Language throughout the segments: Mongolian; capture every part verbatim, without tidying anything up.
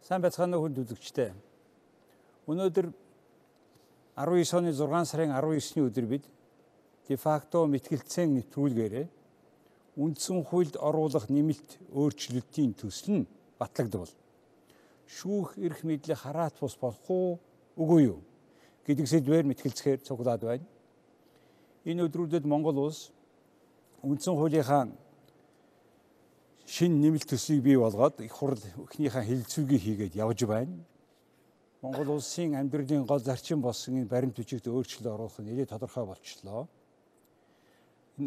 Сайн байцгаана уу хүнд үзэгчдээ. Өнөөдөр арван девять оны зургаан сарын арван девесний өдөр бид дефакто мэтгэлцэн нэвтрүүлгээрээ үндсэн хуульд оруулах нэмэлт өөрчлөлтийн төсөл нь батлагдвал шүүх эрх мэдлийг хараат бус болох уу үгүй юу гэдэг сэдвээр мэтгэлцэхээр цуглаад байна. Энэ өдрүүдэд Монгол улс үндсэн хуулийнхаа шинэ нэмэлт төслийг бий болгоод их хурл эхнийхээ хэлэлцүүгээ хийгээд явж байна. Монгол улсын амьдралын гол зарчим болсон энэ баримт бичигт өөрчлөлт оруулах нь нэлээд тодорхой болчихлоо.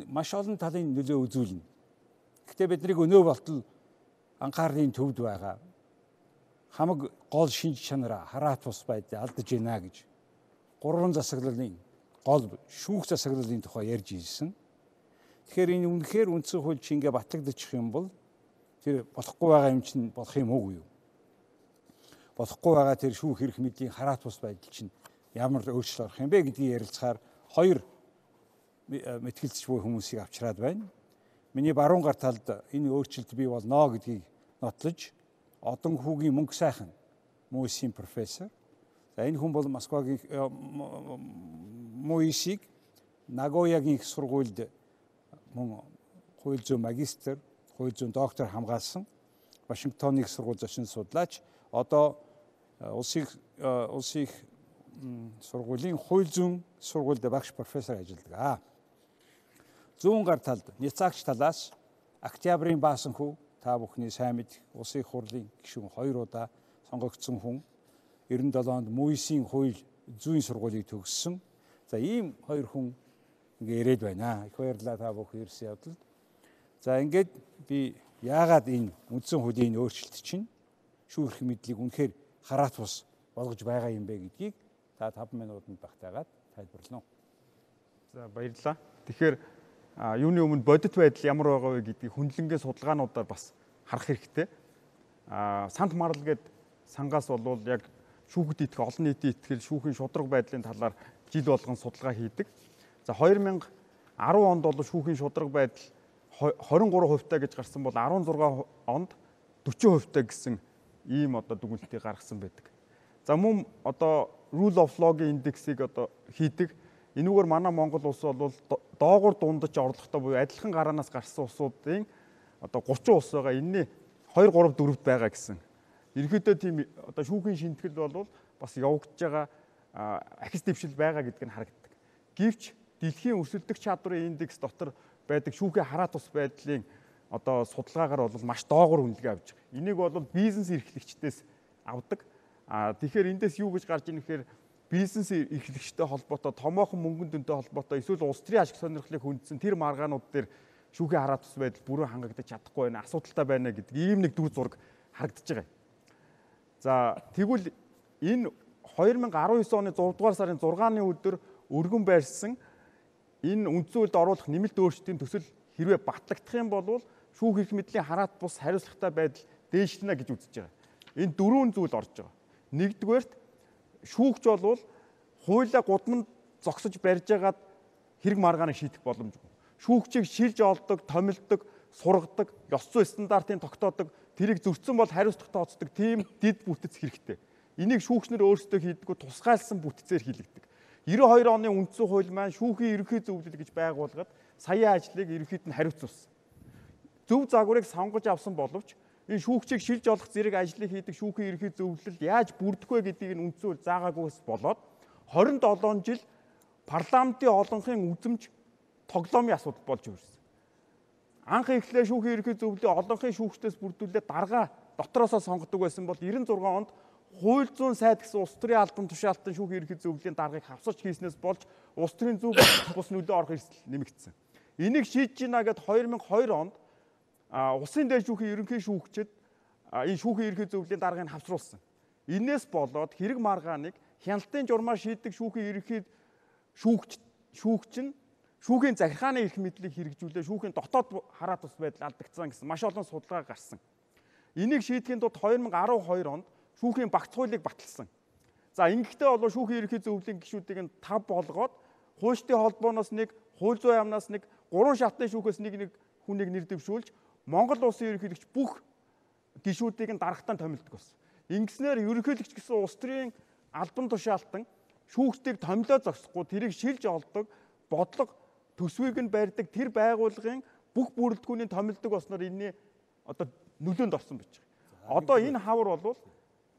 Маш олон талын нөлөө үзүүлнэ. Гэхдээ бидний өнөө болтол анхаарлын төвд байгаа хамаг гол шинж чанараа хараат бус байдал алдаж байна гэж гурван засаглалын гол шүүх засаглалын тухай ярьж ирсэн. Тэгэхээр энэ үнэхээр үндсэн хууль чингээ батлагдчих юм бол тэр болохгүй байгаа юм чинь болох юм уу юу? Болохгүй байгаа тэр шүүх эрх мэдлийн хараат бус байдал чинь ямар өөрчлөлт орох юм бэ гэдгийг ярилцахаар хоёр мэтгэлцэж буй хүмүүсийг авчираад байна. Миний баруун гар талд энэ өөрчлөлт бий болно гэдгийг нотлож одон хүүгийн мөнгө сайхан Муисийн профессор. За энэ хүн бол Москвагийн Муисийг Нагоягийн их сургуульд мөн хууль зүйн магистр, хууль зүйн доктор хамгаалсан. Вашингтоныг сургууль зочин судлаач. Одоо улсын улсын сургуулийн хууль зүйн сургуульд багш профессор ажилладаг. Зүүн гар талд Няцаагч талаас Октябрийн баасан хүү та бүхний сайн мэдэх улсын хурлын гишүүн хоёр удаа сонгогдсон хүн девяносто седьмд онд Муисийн хууль зүйн сургуулийг төгссөн. За ийм хоёр хүн ингээ ирээд байна. Их баярлалаа та бүхэн ирсэн явдалд. За ингээд би яагаад энэ үндсэн хуулийн өөрчлөлт чинь шүүх эрх мэдлийг үнэхээр хараат бус болгож байгаа юм бэ гэдгийг та таван минутанд багтаагаад тайлбарлана. За баярлалаа. Тэгэхээр юуны өмнө бодит байдал ямар байгаа вэ гэдгийг хүндлэнгийн судалгаануудаар бас харах хэрэгтэй. А сант марл гээд сангаас болвол яг шүүхэд итгэх олон нийтийн итгэл шүүхийн шудраг байдлын талаар жил болгон судалгаа хийдэг. За хоёр мянга арван онд бол шүүхийн шудраг байдал хорин гурван хувьтай гэж гарсан бол арван зургаан онд дөрвөн хувьтай гэсэн ийм одоо дүгнэлтийг гаргасан байдаг. За мөн одоо rule of law-гийн индексийг одоо хийдэг. Энүүгээр манай Монгол улс бол доогуур дундаж орлоготой буюу адилхан гараанаас гарсан улсуудын одоо гурван улс байгаа. Энэний хоёр гурав дөрөвд байгаа гэсэн. Ерөнхийдөө тийм одоо шүүхийн шинтгэл бол бас явагдаж байгаа ахис дэвшил байгаа гэдг нь харагддаг. Гэвч дэлхийн өрсөлдөх чадварын индекс дотор байдаг шүүхийн хараат бус байдлын одоо судалгаагаар бол маш доогуур үнэлгээ авж байгаа. Энийг бол бизнес эрхлэгчдээс авдаг. А тэгэхээр эндээс юу гэж гарч ийн гэхээр бизнес эрхлэгчтэй холбоотой томоохон мөнгөн дүнтэй холбоотой эсвэл улс төрийн ашиг сонирхлыг хүндсэн тэр маргаанууд дээр шүүхийн хараат бус байдал бүрэн хангагдаж чадахгүй байна, асуудалтай байна гэдэг ийм нэг дүр зураг харагдаж байгаа. За тэгвэл энэ хоёр мянга арван девять оны зургаан дугаар сарын зургааны өдөр өргөн байрсан энэ үндсэн хуульд оруулах нэмэлт өөрчлөлтийн төсөл хэрвээ батлагдах юм бол шүүх эрх мэдлийн хараат бус хариуцлагатай байдал дээшлэнэ гэж үзэж байгаа. Энэ дөрвөн зүйл орж байгаа. Нэгдүгээрт шүүгч бол хуулиа гудамд зогсож барьж байгаад хэрэг маргааныг шийдэх боломжгүй. Шүүгчийг шилж олдог, томилдог, сургадаг, ёс зүйн стандартын тогтоодог, тэрийг зөрчсөн бол хариуцлага тооцдог тийм дэд бүтэц хэрэгтэй. Энийг шүүгчнэр өөрсдөө хийдэггүй тусгайлсан бүтцээр хийлэгдэг. девяносто хоёр оны үндсэн хууль маань шүүхийн ерөнхий зөвлөл гэж байгууллагад саяын ажлыг ерөнхийд нь хариуцуулсан. Зөв загварыг сонгож авсан боловч энэ шүүгчийг шилж олох зэрэг ажлыг хийдэг шүүхийн ерөнхий зөвлөл яаж бүрдэх вэ гэдгийг нь үндсэн хууль заагаагүйс болоод хорин долоон жил парламентын олонхын үзэмж тоглоомын асуудал болж ирсэн. Анх эхлээ шүүхийн ерөнхий зөвлөлийг олонхын шүүгчдээс бүрдүүлээд дарга дотроосоо сонгодог байсан бол девяносто шесть онд хууль зүйн сайд гэсэн улс төрийн албан тушаалтан шүүхийн ерөнхий зөвлөлийн даргыг хавсарч хийснээс болж улс төрийн зөв бус нөлөө орох эрсдэл нэмэгдсэн. Энийг шийдэж гинэ гэд хоёр мянга хоёр онд улсын дээр шүүхийн ерөнхий шүүгчид энэ шүүхийн ерөнхий зөвлөлийн даргыг хавсруулсан. Инээс болоод хэрэг маргааныг хяналтын журмаар шийддэг шүүхийн ерөнхий шүүгч шүүгч нь шүүхийн захиргааны эрх мэдлийг хэрэгжүүлээ шүүхийн дотоод хараат бус байдал алдагдсан гэсэн маш олон судалгаа гарсан. Энийг шийдэхийн тулд хоёр мянга арван хоёр онд шүүхийн багц хуулийг баталсан. За ингэхдээ бол шүүхийн ерөнхий зөвлөлийн гишүүдийг нь тав болгоод хуульчдын холбооноос нэг, хууль зүйн яамнаас нэг, гурван шатны шүүхээс нэг нэг хүнийг нэр дэвшүүлж Монгол улсын ерөнхийлөгч бүх гишүүдийг нь дарагтан томилдог болсон. Ингэснээр ерөнхийлөгч гэсэн улс төрийн албан тушаалтан шүүгчдийг томилоо зогсохгүй тэрийг шилж олдог, бодлого төсвийг нь барьдаг тэр байгууллагын бүх бүрэлдэхүүний томилдог болсноор энэний одоо нөлөөнд орсон байж байгаа. Одоо энэ хавар бол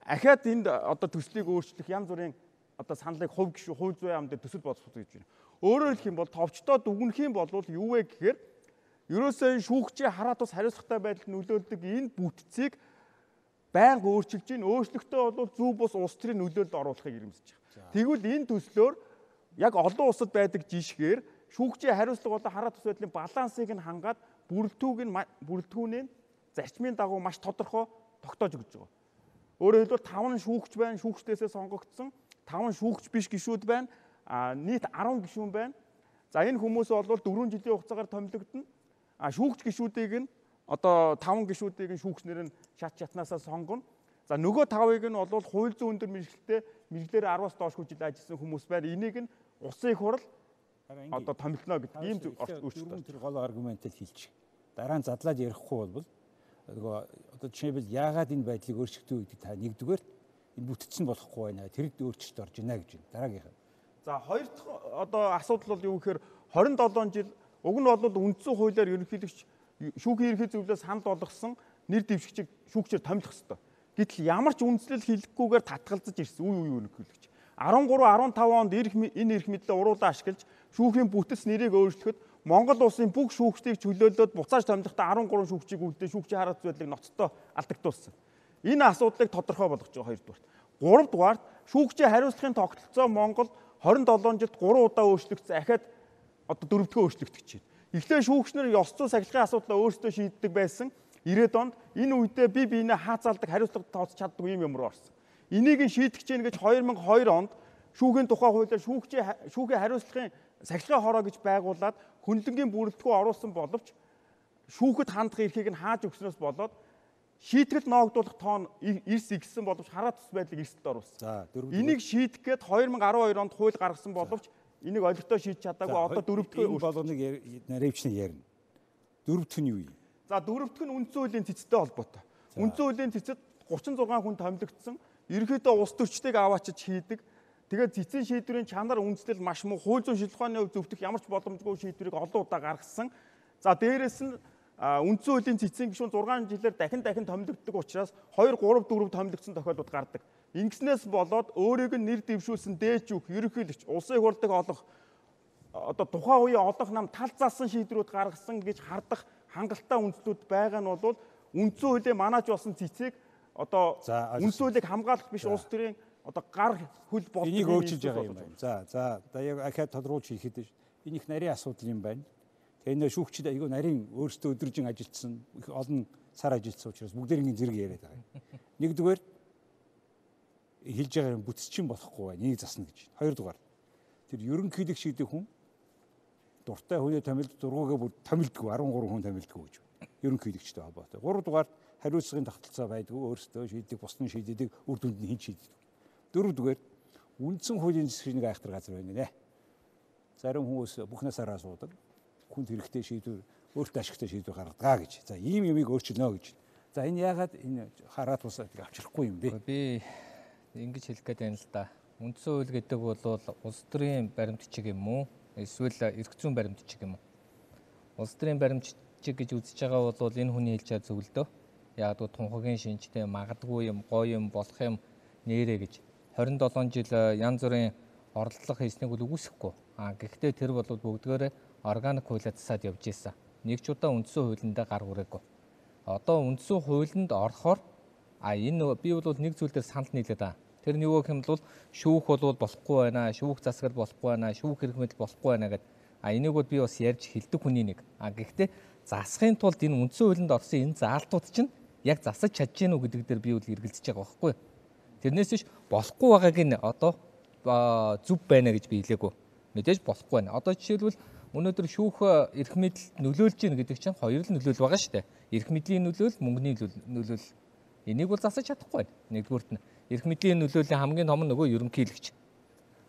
ахаад энд одоо төслийг өөрчлөх янз бүрийн одоо саналыг хувь гишүүн, хувь зүйн яам дээр төсөл боловсруулах гэж байна. Өөрөөр хэлэх юм бол товчдоо дүгнэх юм бол юу вэ гэхээр ерөөсөө шүүгчийн хараа тус хариуцлагатай байдалд нөлөөлдөг энэ бүтцийг байнга өөрчилж ийн өөрчлөлтөө бол зөв бус улс төрийн нөлөөлөлд оруулахыг ирэмсэж байгаа. Тэгвэл энэ төслөөр яг олон улсад байдаг жишгээр шүүгчийн хариуцлага болон хараа тус байдлын балансыг нь хангаад бүрэлдэхүүг нь бүрэлдэхүүний зарчмын дагуу маш тодорхой тогтоож өгч байгаа. Өөрөөр хэлбэл таван шүүгч байна, шүүгчдээсээ сонгогдсон, таван шүүгч биш гишүүд байна, а нийт арван гишүүн байна. За энэ хүмүүс бол дөрвөн жилийн хугацаагаар томилогдно. А шүүгч гишүүдийг нь одоо таван гишүүдийг нь шүүгчнэр нь шат шатнаасаа сонгоно. За нөгөө тавыг нь бол хууль зүйн өндөр мэргэжилтэй мэргэлээр араас доошгүй жил ажилласан хүмүүс байна. Энийг нь улсын их хурл одоо томилно гэдэг ийм өөрчлөлт. Тэр гол аргументыг хэлчих. Дараа нь задлаад ярихгүй бол нөгөө одоо жишээлбэл яагаад энэ байдлыг өөрчлөгдөв гэдэг та нэгдүгээр энэ бүтцэн болохгүй байна. Тэрд өөрчлөлт орж ийнэ гэж байна. Дараагийнх. За хоёр дахь одоо асуудал бол юу гэхээр хорин долоон жил уг нь бол үндсэн хуулиар ерөнхийлөгч шүүхийн ерхий зөвлөлөөс санал болгосон нэр дэвшигчийг шүүгчээр томилох ёстой. Гэтэл ямар ч үндслэл хийлгэхгүйгээр татгалзаж ирсэн үе үе ерөнхийлөгч. арван гурав арван таван онд энэ эрх мэдлээ уруулаа ашиглаж шүүхийн бүтэц нэрийг өөрчлөхөд Монгол улсын бүх шүүгчдийг чөлөөлөөд буцааж томилохдоо арван гурван шүүгчийг үлдээ шүүгчийн хараа зүйдлийг ноцтой алдагдуулсан. Энэ асуудлыг тодорхой болгож байгаа хоёрдугаарт. Гуравдугаарт шүүгчийн хариуцлагын тогтолцоо Монгол хорин долоон жилд гурван удаа өөрчлөгдсөн. Ахаад одоо дөрөвдүгээр өөрчлөгдөх чинь. Эхлээ шүүгчнэр ёс зүйн сахилгын асуудлаа өөрсдөө шийддэг байсан. ирээд онд энэ үедээ би биенээ хаацаалдаг хариуцлага тооцож чаддаг юм юмруу орсон. Энийг нь шийдэх гэж нэгж хоёр мянган хоёр онд шүүхийн тухай хуулиар шүүгчийн шүүхийн хариуцлагын сахилгын хороо гэж байгуулад хөндлөнгийн бүрэлдэхүүн оруулсан боловч шүүхэд хандах эрхийг нь хааж өгснөөс болоод шийтгэл ноогдуулах тоон эрс игсэн боловч хараа тус байдлыг эрсдэлд оруулсан. Энийг шийдэх гээд хоёр мянган арван хоёр онд хууль гаргасан боловч энийг олигтой шийдэж чадаагүй одоо дөрөвдүгээр болгоныг наривчны ярина. Дөрөвдөх нь юу юм? За дөрөвдөх нь үндсэн хуулийн цэцтэй холбоотой. Үндсэн хуулийн цэцэд гучин зургаан хүн томилогдсон. Ерөнхийдөө улс төрчдийг аваачиж хийдэг. Тэгээд цэцэн шийдвэрийн чанар үндэслэл маш муу хууль зүйн шилжихуйны хувь зөвтөх ямар ч боломжгүй шийдвэрийг олон удаа гаргасан. За дээрэс нь үндсэн хуулийн цэцэн гишүүн зургаан жилээр дахин дахин томилогддог учраас хоёр гурав дөрөв томилогдсон тохиолдлууд гардаг. Ингэснээс болоод өөрийг нь нэр дэвшүүлсэн дээж үг ерөнхийлөгч улсын их хурлыг олох одоо тухайн үеийн олох нам тал заасан шийдвэрүүд гаргасан гэж хардах хангалттай үндслүүд байгаа нь бол үндсэн хуулийн манаач болсон цэцэг одоо үндсэн хуулийг хамгаалах биш улс төрийн одоо гар хөл болдог энийг өөрчилж байгаа юм байна. За за одоо яг ахаад тодруулж хийхэд энэ их нарийн асуудал юм байна. Тэгээ энэ шүүгчид айгүй нарийн өөрсдөө өдрөжин ажилтсан их олон сар ажилтсан учраас бүгдээрийн зэрэг яриад байгаа юм. Нэгдүгээр хэлж байгаа юм бүтцчин болохгүй байна. Энийг засна гэж. Хоёрдугаар тэр ерөнхийлөг шийдэх хүн дуртай хүний томилд дургуугаа бүр томилдгүй арван гурван хүн томилдгүй гэж байна. Ерөнхийлөгчтэй холбоотой. Гуравдугаар хариуцлагын тогтолцоо байдгүй өөрсдөө шийдэг бусны шийдэдэг үр дүнд нь хэн шийддэг. Дөрөвдүгээр үндсэн хуулийн зэвсгийн айхтар газар байна нэ. Зарим хүмүүс бүхнээс араа суудаг. Хүнд хэрэгтэй шийдвэр өөртөө ашигтай шийдвэр гаргадаг гэж. За ийм юмыг өөрчилнө гэж. За энэ яагаад энэ хараа тусаад авчрахгүй юм бэ? Би ингэж хэлэх гээд байна л да. Үндсэн хууль гэдэг бол улс төрийн баримтчиг юм уу? Эсвэл эрх зүйн баримтчиг юм уу? Улс төрийн баримтчиг гэж үзэж байгаа бол энэ хүний хэлж байгаа зөв л дөө. Яг л тунхагийн шинжтэй магадгүй юм, гоё юм, болох юм нэрэ гэж хорин долоон жил янз бүрийн оролдлого хийснийг бол үгүйсэхгүй. А гэхдээ тэр бол бүгдгээрээ органик хуулиар засаад явж ийсэн. Нэг ч удаа үндсэн хуулиндаа гар хүрээгүй. Одоо үндсэн хуулинд орохоор а энэ би бол нэг зүйл дээр санал нийлээд байгаа. Тэр нь юу гэх юм бол шүүх бол болохгүй байна, шүүх засаг болохгүй байна, шүүх хэрэг мэдэл болохгүй байна гэдэг. А энийг бол би бас ярьж хэлдэг хүний нэг. А гэхдээ засахын тулд энэ үндсэн хуулинд орсон энэ заалтууд чинь яг засаж чадж гэнэ үү гэдэг дээр би бол эргэлзэж байгаа байхгүй. Тэрнээс биш болохгүй байгааг нь одоо зүв байна гэж би хэлээгүй. Мэдээж болохгүй байна. Одоо жишээлбэл өнөөдөр шүүх эрх мэдэлд нөлөөлж гин гэдэг чинь хоёр л нөлөөл байгаа шүү дээ. Эрх мэдлийн нөлөөл, мөнгөний нөлөөл. Энийг бол засаж чадахгүй байна. Нэгдүгüүрт нь эрх мэдлийн нөлөөлийн хамгийн том нь нөгөө ерөнхийлөгч.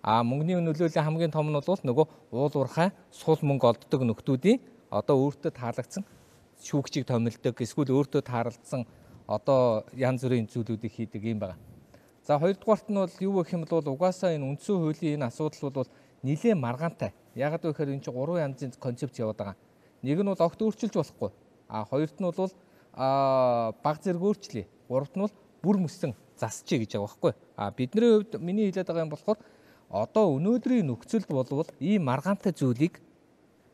А мөнгөний нөлөөлийн хамгийн том нь бол нөгөө уул уурхай сул мөнгө олддог нөхдүүдийн одоо өөртөө таалагдсан шүүгчийг томилдог, эсвэл өөртөө таарлцсан одоо янз бүрийн зүйлүүдийг хийдэг юм байна. За хоёрдугаарт нь бол юу гэх юм бол угаасаа энэ үндсэн хуулийн энэ асуудал бол нэлээд маргаантай. Яагаад вэ гэхээр энэ чинь гурван янзын концепц яваад байгаа. Нэг нь бол огт өөрчилж болохгүй. А хоёрт нь бол а баг зэрэг өөрчлөе. Гуравт нь бол бүр мөсөн засчээ гэж байгаа байхгүй. А бидний хувьд миний хэлээд байгаа юм болохоор одоо өнөөдрийн нөхцөлд болвол ийм маргаантай зүйлийг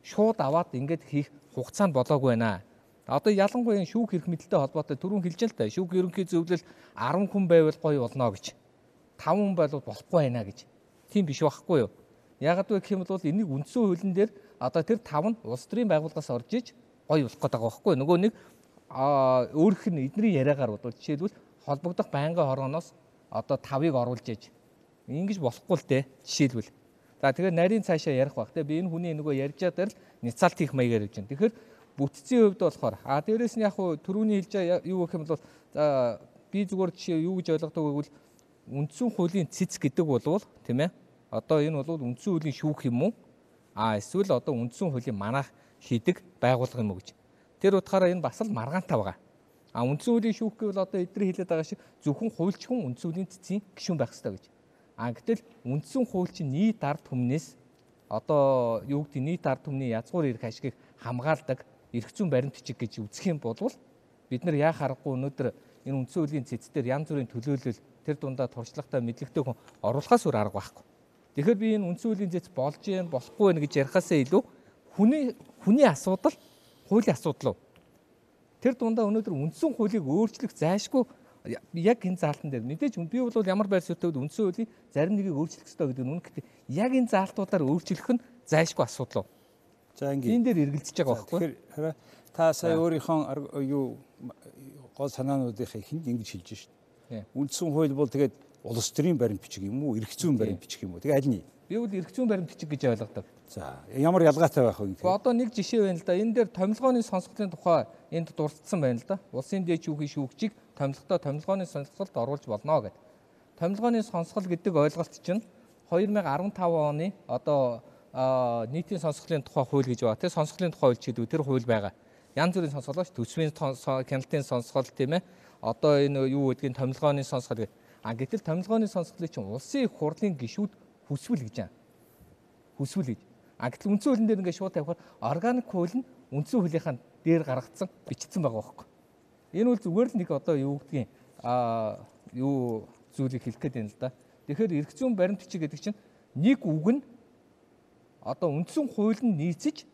шууд аваад ингээд хийх хугацаанд болоогүй байна. Одоо ялангуяа шүүх эрх мэдэлтэй холбоотой түрүүн хэлж л та шүүх ерөнхий зөвлөл арван хүн байвал гоё болно гэж. таван хүн байвал болохгүй байна гэж. Тийм биш байхгүй юу? Яагаад вэ гэх юм бол энийг үндсэн хуулийн дээр одоо тэр тав нь улс төрийн байгууллагаас орж иж гоё болох гэдэг байгаа байхгүй юу? Нөгөө нэг өөрөх нь эдний яриагаар бол жишээлбэл холбогдох байнгын хорооноос одоо тавыг оруулж иж ингэж болохгүй л дээ жишээлбэл. За тэгэхээр нарийн цаашаа ярих байх те би энэ хүний нөгөө ярьж байгаа л няцаалт хийх маягаар явж байна. Тэгэхээр бүтцийн хувьд болохоор а дээрэс нь яг хуу түрүүний хэлж байгаа юу гэх юм бол за би зүгээр жишээ юу гэж ойлгодог гэвэл үндсэн хуулийн цэц гэдэг болвол тийм ээ одоо энэ бол үндсэн хуулийн шүүх юм уу а эсвэл одоо үндсэн хуулийн манайх хийдэг байгууллага юм уу гэж. Тэр утгаараа энэ бас л маргаантай байгаа. А үндсэн хуулийн шүүх гэвэл одоо эдгээр хэлээд байгаа шиг зөвхөн хуульчхан үндсэн хуулийн цэцийн гишүүн байх хэрэгтэй гэж. А гэтэл үндсэн хууль чинь нийт ард түмнээс одоо юу гэдэг нийт ард түмний язгуур эрх ашгийг хамгаалдаг эрх зүйн баримт бичиг гэж үзэх юм бол бид нар яа харахгүй өнөөдөр энэ үндсэн хуулийн цэцээр янз бүрийн төлөөлөл тэр дундаа туршлагатай мэдлэгтэй хүн оруулахаас өөр арга байхгүй. Тэгэхээр би энэ үндсэн хуулийн цэц болж юм болохгүй байх гэж ярихаасаа илүү хүний хүний асуудал хуулийн асуудал уу? Тэр дундаа өнөөдөр үндсэн хуулийг өөрчлөх зайшгүй яг энэ заалтан дээр мэдээж би бол ямар байр суурьтай үндсэн хуулийн зарим нэгийг өөрчлөх ёстой гэдэг нь үнэ гэхдээ яг энэ заалтуудаар өөрчлөх нь зайшгүй асуудал уу? За ингээд энэ дээр эргэлдэж байгаа байхгүй. Тэгэхээр та сая өөрийнхөө юу гол санаануудынхаа ихэнд ингэж хэлж шээ. Үндсэн хууль бол тэгээд улс төрийн баримт бичиг юм уу, эрх зүйн баримт бичиг юм уу? Тэгээ аль нь? Би бол эрх зүйн баримт бичиг гэж ойлгодог. За ямар ялгаатай байх вэ? Одоо нэг жишээ байна л да. Энэ дээр томилгооны сонсголтын тухай энд дурдсан байна л да. Улсын дээд шүүхийн шүүгчийг томилготой томилгооны сонсголт оруулж болно гэдэг. Томилгооны сонсгол гэдэг ойлголт чинь хоёр мянга арван тав оны одоо нийтийн сонсголын тухай хууль гэж байна. Тэр сонсголын тухай хууль ч гэдэг тэр хууль байгаа. Янз бүрийн сонсгол ба төсвийн хяналтын сонсгол тийм ээ. Одоо энэ юу гэдгийг томилгооны сонсгол гэх. А гэтэл томилгооны сонсголыг чинь улсын их хурлын гишүүд хүсвэл гэж байна. Хүсвэл гэж. А гэтэл үндсэн хуулийн дээр ингээд шууд тавихаар органик хууль нь үндсэн хуулийнхаа дээр гаргацсан бичсэн байгаа байхгүй. Энэ бол зүгээр л нэг одоо юу гэдгийг а юу зүйлийг хэлэх гээд байна л да. Тэгэхээр эрх зүйн баримт бичиг гэдэг чинь нэг үг нь одоо үндсэн хууль нь нийцэж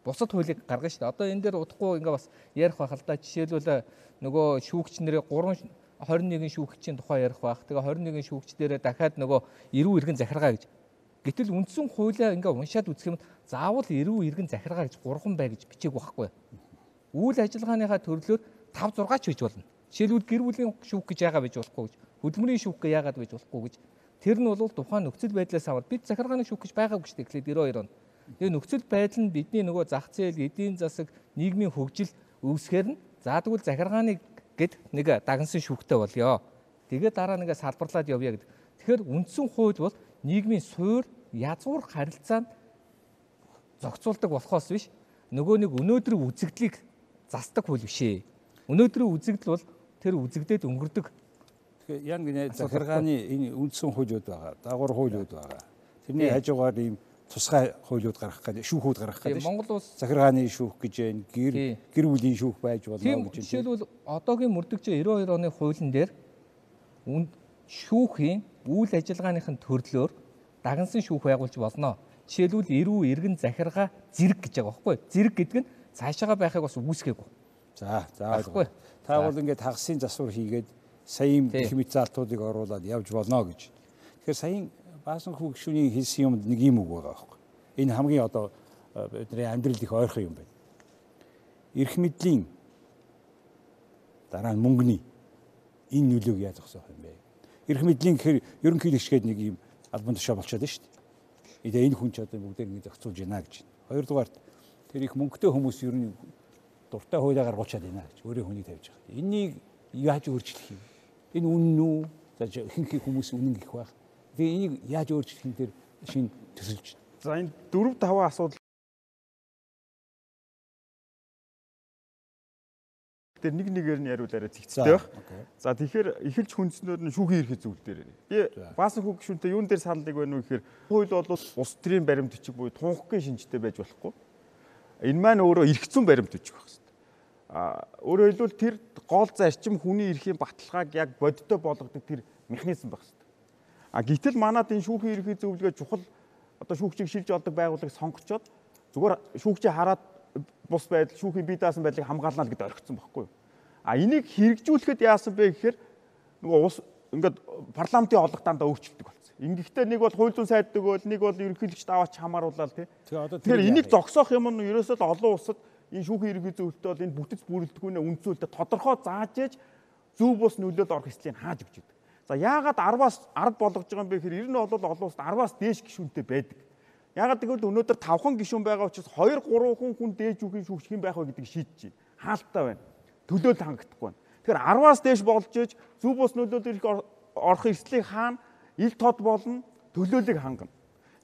бусад хуулийг гаргана шүү дээ. Одоо энэ дээр удахгүй ингээ бас ярих байх л да. Жишээлбэл нөгөө шүүгч нэрээ гурван хорин нэгэн шүүгчийн тухай ярих байх. Тэгээ хорин нэгэн шүүгч дээрээ дахиад нөгөө эрүү иргэн захиргаа гэж. Гэтэл үндсэн хуулиа ингээ уншаад үзэх юм заавал эрүү иргэн захиргаа гэж гурван бай гэж бичээг байхгүй. Үйл ажиллагааныхаа төрлөөр тав зургаа ч бийж болно. Жишээлбэл гэр бүлийн шүүх гэж яагаад бийж болохгүй гэж, хөдөлмөрийн шүүх гэж яагаад бийж болохгүй гэж. Тэр нь бол тухайн нөхцөл байдлаас аваад бид захиргааны шүүх гэж байгаагүй шүү дээ. Эхлээд девяносто хоёр он. Тэгээ нөхцөл байдал нь бидний нөгөө зах зээл, эдийн засаг, нийгмийн хөгжил үүсгэхээр нь за тэгвэл захиргааны гэд нэг дагнсан шүүхтэй болёо. Тэгээ дараа нэгэ салбарлаад явъя гэдэг. Тэгэхээр үндсэн хууль бол нийгмийн суурь, язгуур харилцаанд зохицуулдаг болохоос биш нөгөө нэг өнөөдрийн үзэгдлийг засдаг хууль биш ээ. Өнөөдрийн үзэгдэл бол тэр үзэгдээд өнгөрдөг. Тэгэхээр яг гинэ захиргааны энэ үндсэн хуулиуд байгаа, дагавар хуулиуд байгаа. Тэрний хажуугаар ийм тусгай хуулиуд гаргах гэдэг, шүүхүүд гаргах гэдэг. Монгол улс захиргааны шүүх гэж байна, гэр гэр бүлийн шүүх байж болно гэж байна. Жишээлбэл одоогийн мөрдөгч девяносто хоёр оны хуулийн дээр шүүхийн үйл ажиллагааныхын төрлөөр дагнсан шүүх байгуулж болно. Жишээлбэл эрүү иргэн захиргаа зэрэг гэж байгаа байхгүй. Зэрэг гэдэг нь цаашаага байхыг бас үүсгээгүй. За, за ойлгоо. Та бол ингээд хагасын засвар хийгээд саяын их мэд залтуудыг оруулаад явж болно гэж. Тэгэхээр саяын Баасан хүү гишүүний хэлсэн юмд нэг юм үг байгаа байхгүй. Энэ хамгийн одоо бидний амьдрал их ойрхон юм байна. Эрх мэдлийн дараа нь мөнгөний энэ нөлөөг яаж зогсоох юм бэ? Эрх мэдлийн гэхээр ерөнхийдөө ичгээд нэг юм албан тушаа болчиход байна шүү дээ. Тэгээ энэ хүн ч одоо бүгдээр ингэ зохицуулж байна гэж. Хоёрдугаарт тэр их мөнгөтэй хүмүүс ер нь дуртай хуулиа гаргуулчаад байна гэж өөрөө хүнийг тавьж байгаа. Энийг яаж өөрчлөх юм? Энэ үнэн үү? За ихэнх хүмүүс үнэн гэх байх. Тэгээ энийг яаж өөрчлөх юм дээр шинэ төсөлж. За энэ дөрв таван асуудал Тэр нэг нэгээр нь яриул арай зэгцтэй байх. За тэгэхээр эхэлж хүнснүүд нь шүүхийн эрхээ зүйл дээр. Би баасан хүүг гишүүнтэй юун дээр саналыг байна вэ гэхээр хууль бол улс төрийн баримт бичиг буюу тунхагийн шинжтэй байж болохгүй. Энэ маань өөрөө эрх зүйн баримт бичиг байх хэрэгтэй. А өөрөөр хэлбэл тэр гол зарчим хүний эрхийн баталгааг яг бодиттой болгодог тэр механизм байх хэрэгтэй. А гэтэл манад энэ шүүхийн эрхийн зөвлөгөө чухал одоо шүүгчийг шилж олдог байгууллагыг сонгочоод зүгээр шүүгчийг хараад бус байдал шүүхийн бие даасан байдлыг хамгаална л гэдээ орхисон байхгүй юу. А энийг хэрэгжүүлэхэд яасан бэ гэхээр нөгөө ус ингээд парламентын олонх дандаа өөрчлөлдөг болсон. Ингэхдээ нэг бол хууль зүйн сайд өгөөл, нэг бол ерөнхийлөгчд аваач хамааруулаад тий. Тэгэхээр энийг зогсоох юм нь ерөөсөө л олон улсад энэ шүүхийн эрхийн зөвлөлтөд бол энэ бүтэц бүрэлдэхүүнээ үндсүүлдэг тодорхой зааж ээж зөв бус нөлөөд орох эслийг хааж өгч идэг. За яагаад арваас ард болгож байгаа юм бэ гэхээр ер нь бол олон улсад арваас дээш гишүүнтэй байдаг. Ягаад гэвэл өнөөдөр тавхан гишүүн байгаа учраас хоёр гурван хүн дээж үгийн шүүгч хэн байх вэ гэдгийг шийдэж байна. Хаалттай байна. Төлөөлөл хангагдахгүй байна. Тэгэхээр арваас дээш болж ээж зөв бус нөлөөд ирэх орох эслийг хаана ил тод болно, төлөөллийг хангана.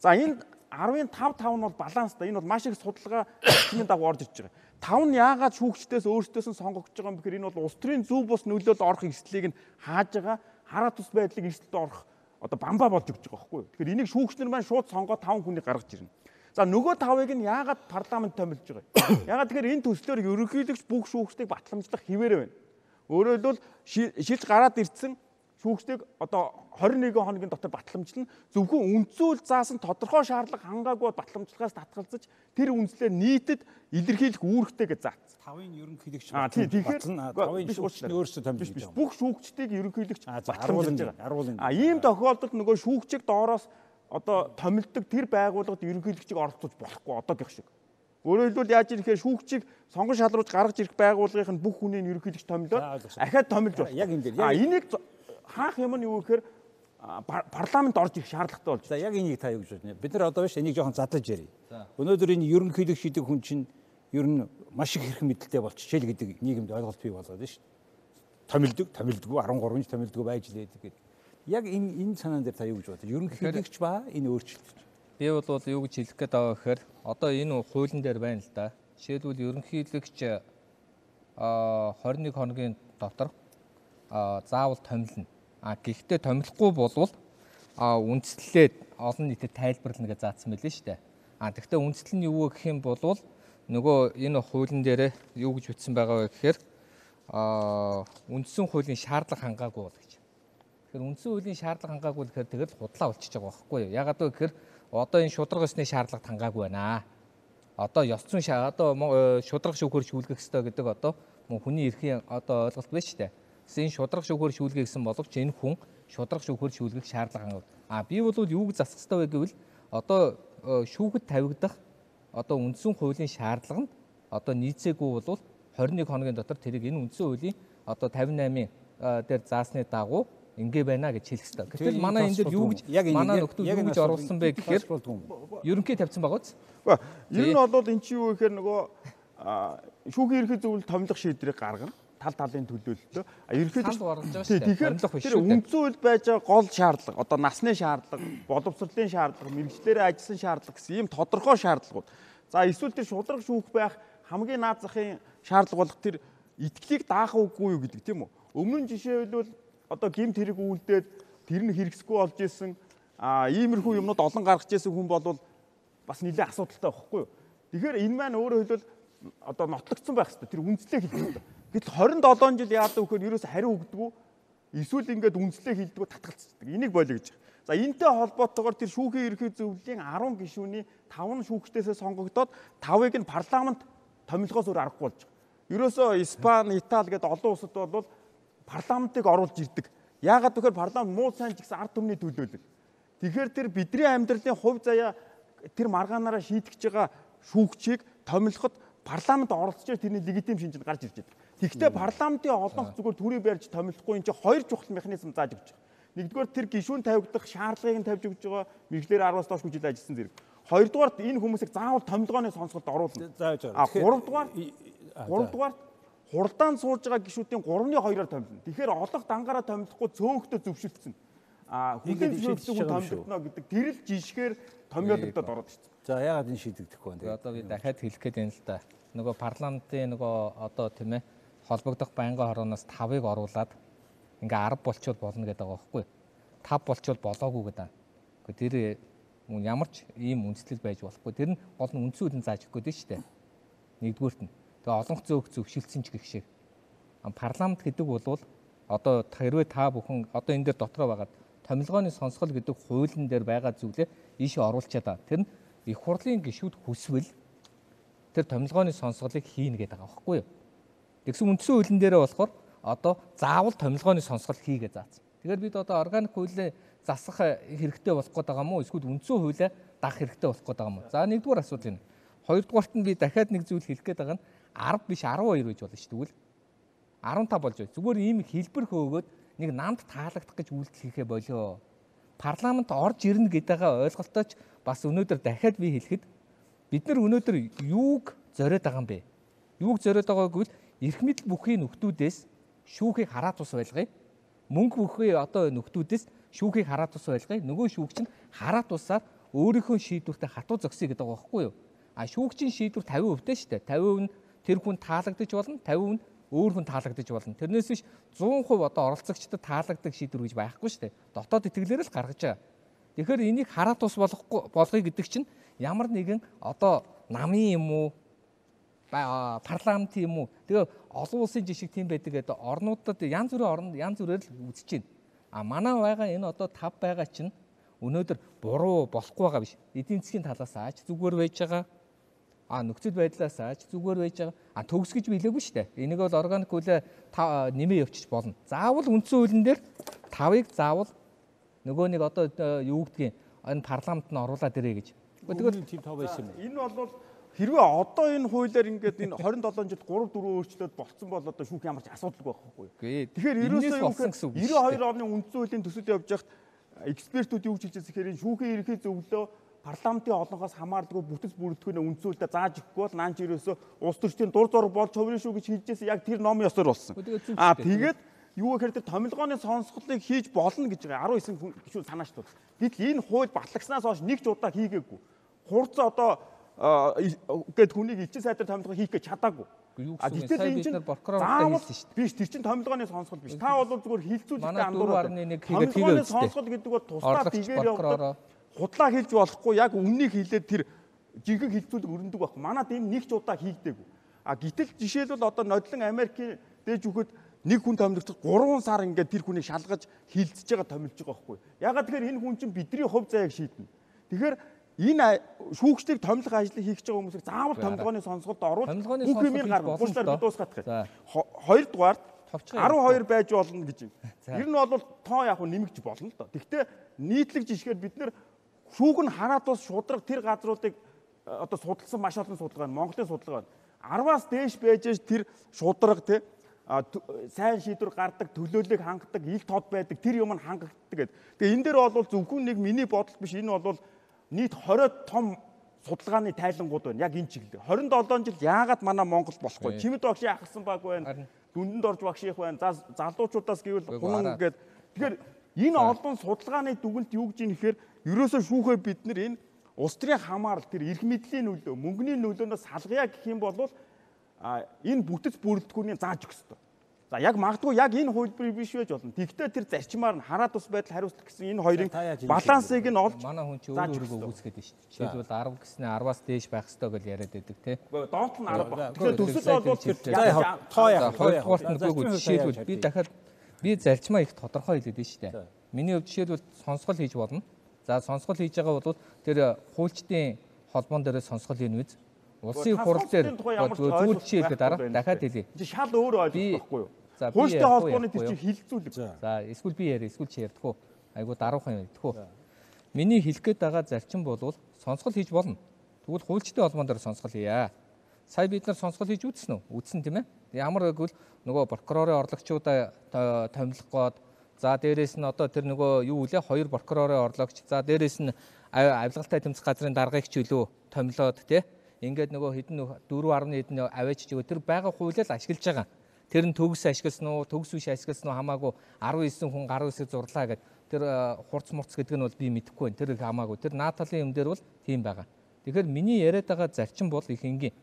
За энэ арвын тав тав нь бол баланстай. Энэ бол маш их судалгаа чиний дагуу орж ирж байгаа. тав нь яагаад шүүгчдээс өөрсдөөс нь сонгогдож байгаа юм бэхээр энэ бол улс төрийн зөв бус нөлөөлөл орох эслийг нь хааж байгаа хараа тус байдлыг эсэлд орох одоо бамбаа болж өгч байгаа байхгүй юу. Тэгэхээр энийг шүүгчнэр маань шууд сонгоод таван хүнийг гаргаж ирнэ. За нөгөө тавыг нь яагаад парламент томилж байгаа юм? Яагаад тэгэхээр энэ төслөөр ерөнхийлөгч бүх шүүгчдийг батламжлах хിവэрэ байна. Өөрөөр хэлбэл шилж гараад ирсэн шүүгчдийг одоо хорин нэгэн хоногийн дотор батламжлна. Зөвхөн үндсүүл заасан тодорхой шаардлага хангаагүй батламжлахаас татгалзаж тэр үндслээр нийтэд илэрхийлэх үүрэгтэй гэж заасан. Тавын ерөнхийлөгч батлна. Тавын шүүгч нь өөрсдөө томилж байгаа. Бүх шүүгчдийг ерөнхийлөгч батламжлж байгаа. А ийм тохиолдолд нөгөө шүүгчийг доороос одоо томилдог тэр байгууллагад ерөнхийлөгчийг оролцуулж болохгүй одоогийнх шиг. Өөрөөр хэлбэл яаж ирэхээр шүүгчийг сонгон шалруулж гаргаж ирэх байгууллагын бүх хүнийг ерөнхийлөгч томилоод ахаад томилж байна. Яг энэ дээр. А энийг хаах юм нь юу гэхээр парламент орж ирэх шаардлагатай болж. За яг энийг та юу гэж байна? Бид нар одоо биш энийг жоохон задлаж ярив. Өнөөдөр энэ ерөнхийлөгч шийдэг хүн чинь ер нь маш их хэрэг мэдлэлтэй болчихжээ л гэдэг нийгэмд ойлголт бий болоод байна шүү дээ. Томилдог, томилдгүй арван гурав жил томилдгүй байж лээд гэдэг. Яг энэ энэ санаан дээр та юу гэж бодож байна? Ерөнхийлөгч ба энэ өөрчлөлт. Би бол юу гэж хэлэх гээд байгаа гэхээр одоо энэ хуулийн дээр байна л да. Жишээлбэл ерөнхийлөгч а хорин нэг хоногийн дотор а заавал томилно. А гэхдээ томилохгүй болвол а үндслэлээд олон нийтэд тайлбарлана гэж заасан мэлээ шүү дээ. А тэгвэл үндслэл нь юу гэх юм бол нөгөө энэ хуулийн дээр юу гэж бичсэн байгаа вэ гэхээр а үндсэн хуулийн шаардлага хангаагүй бол гэж. Тэгэхээр үндсэн хуулийн шаардлага хангаагүй гэхээр тэгэл худлаа болчихж байгаа байхгүй юу? Ягаад вэ гэхээр одоо энэ шударга ёсны шаардлага хангаагүй байна. Одоо ёс зүйн одоо шударга шүүхээр шүүлгэх ёстой гэдэг одоо хүний эрхийн одоо ойлголт байна шүү дээ. Гэсэн шударга шүүхээр шүүлгэх гэсэн боловч энэ хүн шударга шүүхээр шүүлгэх шаардлага хангав. А би бол юу гэж засах ёстой вэ гэвэл одоо шүүхэд тавигдах одоо үндсэн хуулийн шаардлаганд одоо нийцээгүй бол хорин нэг хоногийн дотор тэрийг энэ үндсэн хуулийн одоо тавин восемь дээр заасны дагуу ингээ байна гэж хэлэх хэрэгтэй. Гэтэл манай энэ дээр юу гэж манай нөхдөл юу гэж оруулсан бэ гэхээр ерөнхий тавьсан байгаа үз. Ер нь бол эн чинь юу гэхээр нөгөө шүүхийн ерхий зөвлөлт томилох шийдрийг гаргана. Тал талын төлөөлөлтөө ерхий тэгэхээр тэр үндсэн хууль байж байгаа гол шаардлага одоо насны шаардлага, боловсролын шаардлага, мэргэжлэрээ ажилласан шаардлага гэсэн ийм тодорхой шаардлагууд. За эсвэл тэр шударга шүүх байх хамгийн наад захын шаардлага болох тэр итгэлийг даах үгүй юу гэдэг тийм үү? Өмнө нь жишээ хэлбэл одоо гэмт хэрэг үйлдээд тэр нь хэрэгсэхгүй болж исэн а иймэрхүү юмнууд олон гаргаж исэн хүн бол бас нэлээд асуудалтай байхгүй юу? Тэгэхээр энэ маань өөрөөр хэлбэл одоо нотлогдсон байх хэрэгтэй. Тэр үндслээ хэлэх хэрэгтэй. Гэтэл хорин долоон жил яадаг вөхөр ерөөс хариу өгдөггүй. Эсвэл ингээд үндслээ хэлдэггүй татгалцдаг. Энийг болио гэж. За энэтэй холбоотойгоор тэр шүүхийн ерхий зөвлөлийн арван гишүүний таван шүүгчдээсээ сонгогдоод тавыг нь парламент томилгоос өөр аргагүй болж байгаа. Ерөөсөө Испани, Итали гэдэг олон улсад бол парламентыг оруулж ирдэг. Яагаад гэвэл парламент муу сайн ч гэсэн ард түмний төлөөлөл. Тэгэхээр тэр бидний амьдралын хувь заяа тэр маргаанаараа шийдэж байгаа шүүгчийг томилоход парламент оролцож тэрний легитим шинжинд гарч ирж байгаа. Тэгэхдээ парламентын олонх зүгээр төрийн барьж томилохгүй энэ чинь хоёр чухал механизм зааж өгч байгаа. Нэгдүгээр тэр гишүүн тавигдах шаардлагыг нь тавьж өгч байгаа. Мэргэжлэр араас доош жил ажилласан зэрэг. Хоёрдугаар энэ хүмүүсийг заавал томилгооны сонсголд оруулна. А гуравдугаар гуравдугаар хурдаан сууж байгаа гишүүдийн гурвны хоёроор томилно. Тэгэхээр олох дангаараа томилохгүй цөөхтө зөвшөлдсөн. А хүлээн зөвшөөрсөн хүн томилогдно гэдэг тэр л жишгээр томьёологдоод ороод ирсэн. За яагаад энэ шийдэгдэхгүй вэ? Одоо би дахиад хэлэх гээд байна л да. Нөгөө парламентын нөгөө одоо тийм ээ холбогдох байнгын хорооноос тавыг оруулаад ингээ арав болчвол болно гэдэг байгаа байхгүй. тав болчвол болоогүй гэдэг. Гэхдээ тэр ямар ч ийм үндслэл байж болохгүй. Тэр нь гол нь үндсэн хуулийн зааж өгөх гэдэг шүү дээ. Нэгдүгüүрт нь. Тэгээ олонх зөөх зөвшөлдсөн ч гэх шиг. Парламент гэдэг бол одоо хэрвээ та бүхэн одоо энэ дээр дотроо байгаад томилгооны сонсгол гэдэг хуулийн дээр байгаа зүйлээ ийшээ оруулчаад байгаа. Тэр нь их хурлын гишүүд хүсвэл тэр томилгооны сонсголыг хийнэ гэдэг байгаа байхгүй юу? Тэгсэн үндсэн хуулийн дээрээ болохоор одоо заавал томилгооны сонсгол хийгээ заасан. Тэгэхээр бид одоо органик хуулийг засах хэрэгтэй болох гээд байгаа мó эсвэл үндсэн хуулиа дагах хэрэгтэй болох гээд байгаа мó. За нэгдүгээр асуудал энэ. Хоёрдугаарт нь би дахиад нэг зүйл хэлэх гээд байгаа нь арав биш арав хоёр байж болно шүү дээ. Тэгвэл арав тав болж байна. Зүгээр ийм хэлбэр хөөгөөд нэг намд таалагдах гэж үйлдэл хийхэ болоо. Парламент орж ирнэ гэдэгээ ойлголтооч бас өнөөдөр дахиад би хэлэхэд бид нар өнөөдөр юуг зориод байгаа юм бэ? Юуг зориод байгааг гэвэл эрх мэдэл бүхий нөхдүүдээс шүүхийг хараа тус байлгая. Мөнгө бүхий одоо нөхдүүдээс шүүхийг хараа тус байлгая. Нөгөө шүүгч нь хараа тусаар өөрийнхөө шийдвэртээ хатуу зогсъё гэдэг байгаа байхгүй юу? А шүүгчийн шийдвэр тавин хувь дээ шүү дээ. тавин хувь нь тэр хүн таалагдаж болно, тавин хувь нь өөр хүн таалагдаж болно. Тэрнээс биш зуун хувь одоо оролцогчдод таалагддаг шийдвэр гэж байхгүй шүү дээ. Дотоод итгэлээр л гаргаж байгаа. Тэгэхээр энийг хараа тус болохгүй болгоё гэдэг чинь ямар нэгэн одоо намын юм уу парламент юм уу тэгээ олон улсын жишг тийм байдаг гэдэг орнуудад янз бүрийн орнд янз бүрээр л үзэж байна. А манай байгаа энэ одоо тав байгаа чинь өнөөдөр буруу болохгүй байгаа биш. Эдийн засгийн талаас аач зүгээр байж байгаа. А нөхцөл байдлаас аач зүгээр байж байгаа. А төгсгөж билээгүй шүү дээ. Энийг бол органик хуулиа нэмээ явчих болно. Заавал үндсэн хуулийн дээр тавыг заавал нөгөө нэг одоо юу гэдгийг энэ парламент нь оруулаад ирээ гэж. Тэгвэл тийм тав байсан юм. Энэ бол хэрвээ одоо энэ хуулиар ингээд энэ двадцать seven жилд three four өөрчлөлт болцсон бол одоо шүүх ямар ч асуудалгүй байхгүй. Тэгэхээр ерөөсөө ninety-two оны үндсэн хуулийн төсөл явж байхад экспертүүд юу гэж хэлж байгаа гэхээр шүүхийн ерхий зөвлөлөө парламентын олонхоос хамаардаггүй бүтэц бүрэлдэхүүнээ үндсэн хуулиар зааж өгөхгүй бол наанч ерөөсөө улс төрчдийн дур зориг болж хувирын шүү гэж хэлж байсан яг тэр ном ёсоор болсон. Аа тэгээд юу гэхээр тэр томилгооны сонсголыг хийж болно гэж байгаа nineteen гишүүн санааш тул. Гэтэл энэ хууль батлагснаас хойш нэг ч удаа хийгээгүй. Хурц одоо гээд хүнийг элчин сайдаар томилгоо хийх гэж чадаагүй. А гэтэл энэ чинь заавал биш тэр чинь томилгооны сонсгол биш. Та бол зүгээр хилцүүлэлтэд андуураад томилгооны сонсгол гэдэг бол тусдаа бигээр явдаг. Худлаа хэлж болохгүй яг үннийг хэлээд тэр жинхэнэ хилцүүлэг өрнөдөг байхгүй. Манад энэ нэг ч удаа хийгдээгүй. А гэтэл жишээлбэл одоо нодлон Америкийн дээж өгөхөд нэг хүн томилогдсон three сар ингээд тэр хүнийг шалгаж хилцэж байгаа томилж байгаа байхгүй. Ягаад тэгэхээр энэ хүн чинь бидний хувь заяаг шийднэ. Тэгэхээр энэ шүүгчдийг томилох ажлыг хийх гэж байгаа хүмүүсийг заавал томилгооны сонсголд оруулж бүх юмыг гаргах. Гушлаар бид дуусгах гэх. Хоёрдугаар twelve байж болно гэж юм. Ер нь бол тоо яг нэмэгч болно л доо. Гэхдээ нийтлэг жишгээр бид нэр шүүг нь хараад бас шудраг тэр газруудыг одоо судалсан маш олон судалгаа байна. Монголын судалгаа байна. Арваас дээш байж тэр шудраг те сайн шийдвэр гардаг, төлөөллийг хангадаг, ил тод байдаг тэр юм нь хангагддаг гэдэг. Тэгээ энэ дээр бол зөвхөн нэг миний бодол биш. Энэ бол нийт twenty том судалгааны тайлангууд байна. Яг энэ чиглэл. twenty-seven жил яагаад манай Монгол болохгүй? Чимэд багшийн ахсан баг байна. Дүндэнд орж багш их байна. За залуучуудаас гэвэл гунан гэдэг. Тэгэхээр энэ олон судалгааны дүгнэлт юу гэж юм гэхээр ерөөсөө шүүхээ бид нар энэ улс төрийн хамаарал тэр эрх мэдлийн нөлөө, мөнгөний нөлөөнөөс салгая гэх юм бол энэ бүтэц бүрэлдэхүүнийг зааж өгөх ёстой. За яг магадгүй яг энэ хуулбар биш байж болно. Тэгвэл тэр зарчмаар нь хараа тус байдал хариуцлах гэсэн энэ хоёрын балансыг нь олж манай хүн чинь өөр өөргөө үүсгээд байна шүү дээ. Жишээлбэл ten гэснээр ten-аас дээш байх ёстой гэж яриад байдаг тий. Доод нь ten баг. Тэгэхээр төсөл бол тэр тоо яах хоёрдугаарт нь үгүй жишээлбэл би дахиад би зарчмаа их тодорхой хэлээд байна шүү дээ. Миний хувьд жишээлбэл сонсгол хийж болно. За сонсгол хийж байгаа бол тэр хуульчдын холбоон дээр сонсгол хийнэ үз. Улсын хурал дээр зүгээр жишээлбэл дараа дахиад хэлье. Шал өөр ойлгох байхгүй юу? Хуульчдын холбооны тэр чинь хилцүүлэг. За эсвэл би яриа, эсвэл чи ярьдаггүй. Айгу даруухан ярьдаггүй. Миний хэлэх гээд байгаа зарчим бол сонсгол хийж болно. Тэгвэл хуульчдын холбоон дээр сонсгол хийя. Сая бид нар сонсгол хийж үзсэн үү? Үзсэн тийм ээ. Ямар гэвэл нөгөө прокурорын орлогчуудаа томилох гээд за дээрээс нь одоо тэр нөгөө юу үлээ хоёр прокурорын орлогч за дээрээс нь авилгалтай тэмцэх газрын даргаагч үлөө томилоод тий. Ингээд нөгөө хэдэн four хэдэн аваач чиг тэр байгаа хуулиар ашиглаж байгаа. Тэр нь төгс ашигласан уу, төгс биш ашигласан уу хамаагүй nineteen хүн nineteen хэсэг зурлаа гэд тэр хурц мурц гэдэг нь бол би мэдэхгүй байна. Тэр хамаагүй. Тэр нааталын юм дээр бол тийм байгаа. Тэгэхээр миний яриад байгаа зарчим бол их энгийн.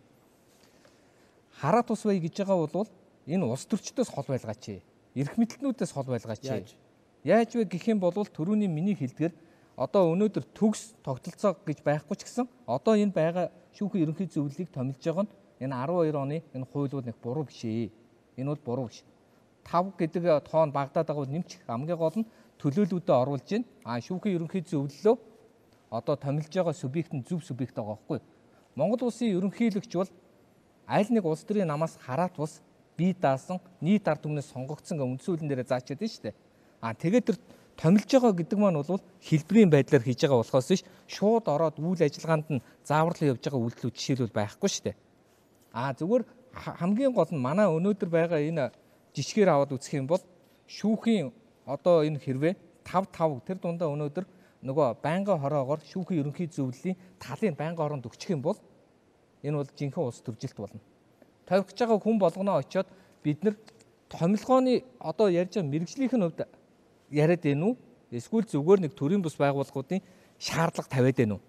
Хараа тус бай гэж байгаа бол энэ улс төрчдөөс хол байлгаач. Эрх мэдлэлнүүдээс хол байлгаач. Яаж вэ гэх юм бол түрүүний миний хэлдгэр одоо өнөөдөр төгс тогтолцоо гэж байхгүй ч гэсэн одоо энэ байгаа шүүхийн ерөнхий зөвлөлийг томилж байгаа нь энэ арван хоёр оны энэ хууль бол нэг буруу биш ээ. Энэ бол буруу биш. тав гэдэг тоон багтаад байгаа бол нэмчих хамгийн гол нь төлөөлөлөдөө оруулж байна. А шүүхийн ерөнхий зөвлөлөө одоо томилж байгаа субъект нь зөв субъект байгаа байхгүй. Монгол улсын ерөнхийлөгч бол аль нэг улс төрийн намаас хараат бус бие даасан нийт ард түмнээс сонгогдсон үндсэн хуулийн дээр заачаад байна шүү дээ. А тэгээд тэр томилж байгаа гэдэг маань бол хэлбэрийн байдлаар хийж байгаа болохоос биш шууд ороод үйл ажиллагаанд нь зааварлан явж байгаа үйлдэлүүд жишээлбэл байхгүй шүү дээ. А зүгээр хамгийн гол нь манай өнөөдөр байгаа энэ жишгээр аваад үзэх юм бол шүүхийн одоо энэ хэрвээ тав тав тэр дундаа өнөөдөр нөгөө байнгын хороогоор шүүхийн ерөнхий зөвлөлийн талын байнгын хоронд өгчих юм бол энэ бол жинхэнэ улс төржилт болно. Тавих гэж байгаа хүн болгоноо очиод бид нар томилгооны одоо ярьж байгаа мэрэгжлийнхэн хувьд яриад байна уу? Эсвэл зүгээр нэг төрийн бус байгууллагуудын шаардлага тавиад байна уу?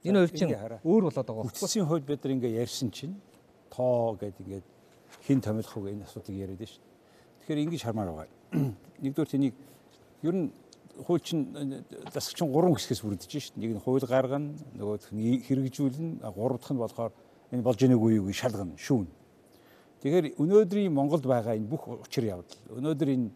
Энэ хоёр чинь өөр болоод байгаа байхгүй. Хүчсийн хувьд бид нар ингээ ярьсан чинь тоо гэдэг ингээд хин томилох уу энэ асуудыг яриад байна шүү дээ. Тэгэхээр ингэж хармаар байгаа. Нэгдүгээр тэнийг ер нь хууль чинь засагч нь гурван хэсгээс бүрдэж шүү дээ. Нэг нь хууль гаргана, нөгөөх нь хэрэгжүүлнэ, гурав дахь нь болохоор энэ болж ийнэг үеийг шалгана, шүүн. Тэгэхээр өнөөдрийн Монголд байгаа энэ бүх учир явдал өнөөдөр энэ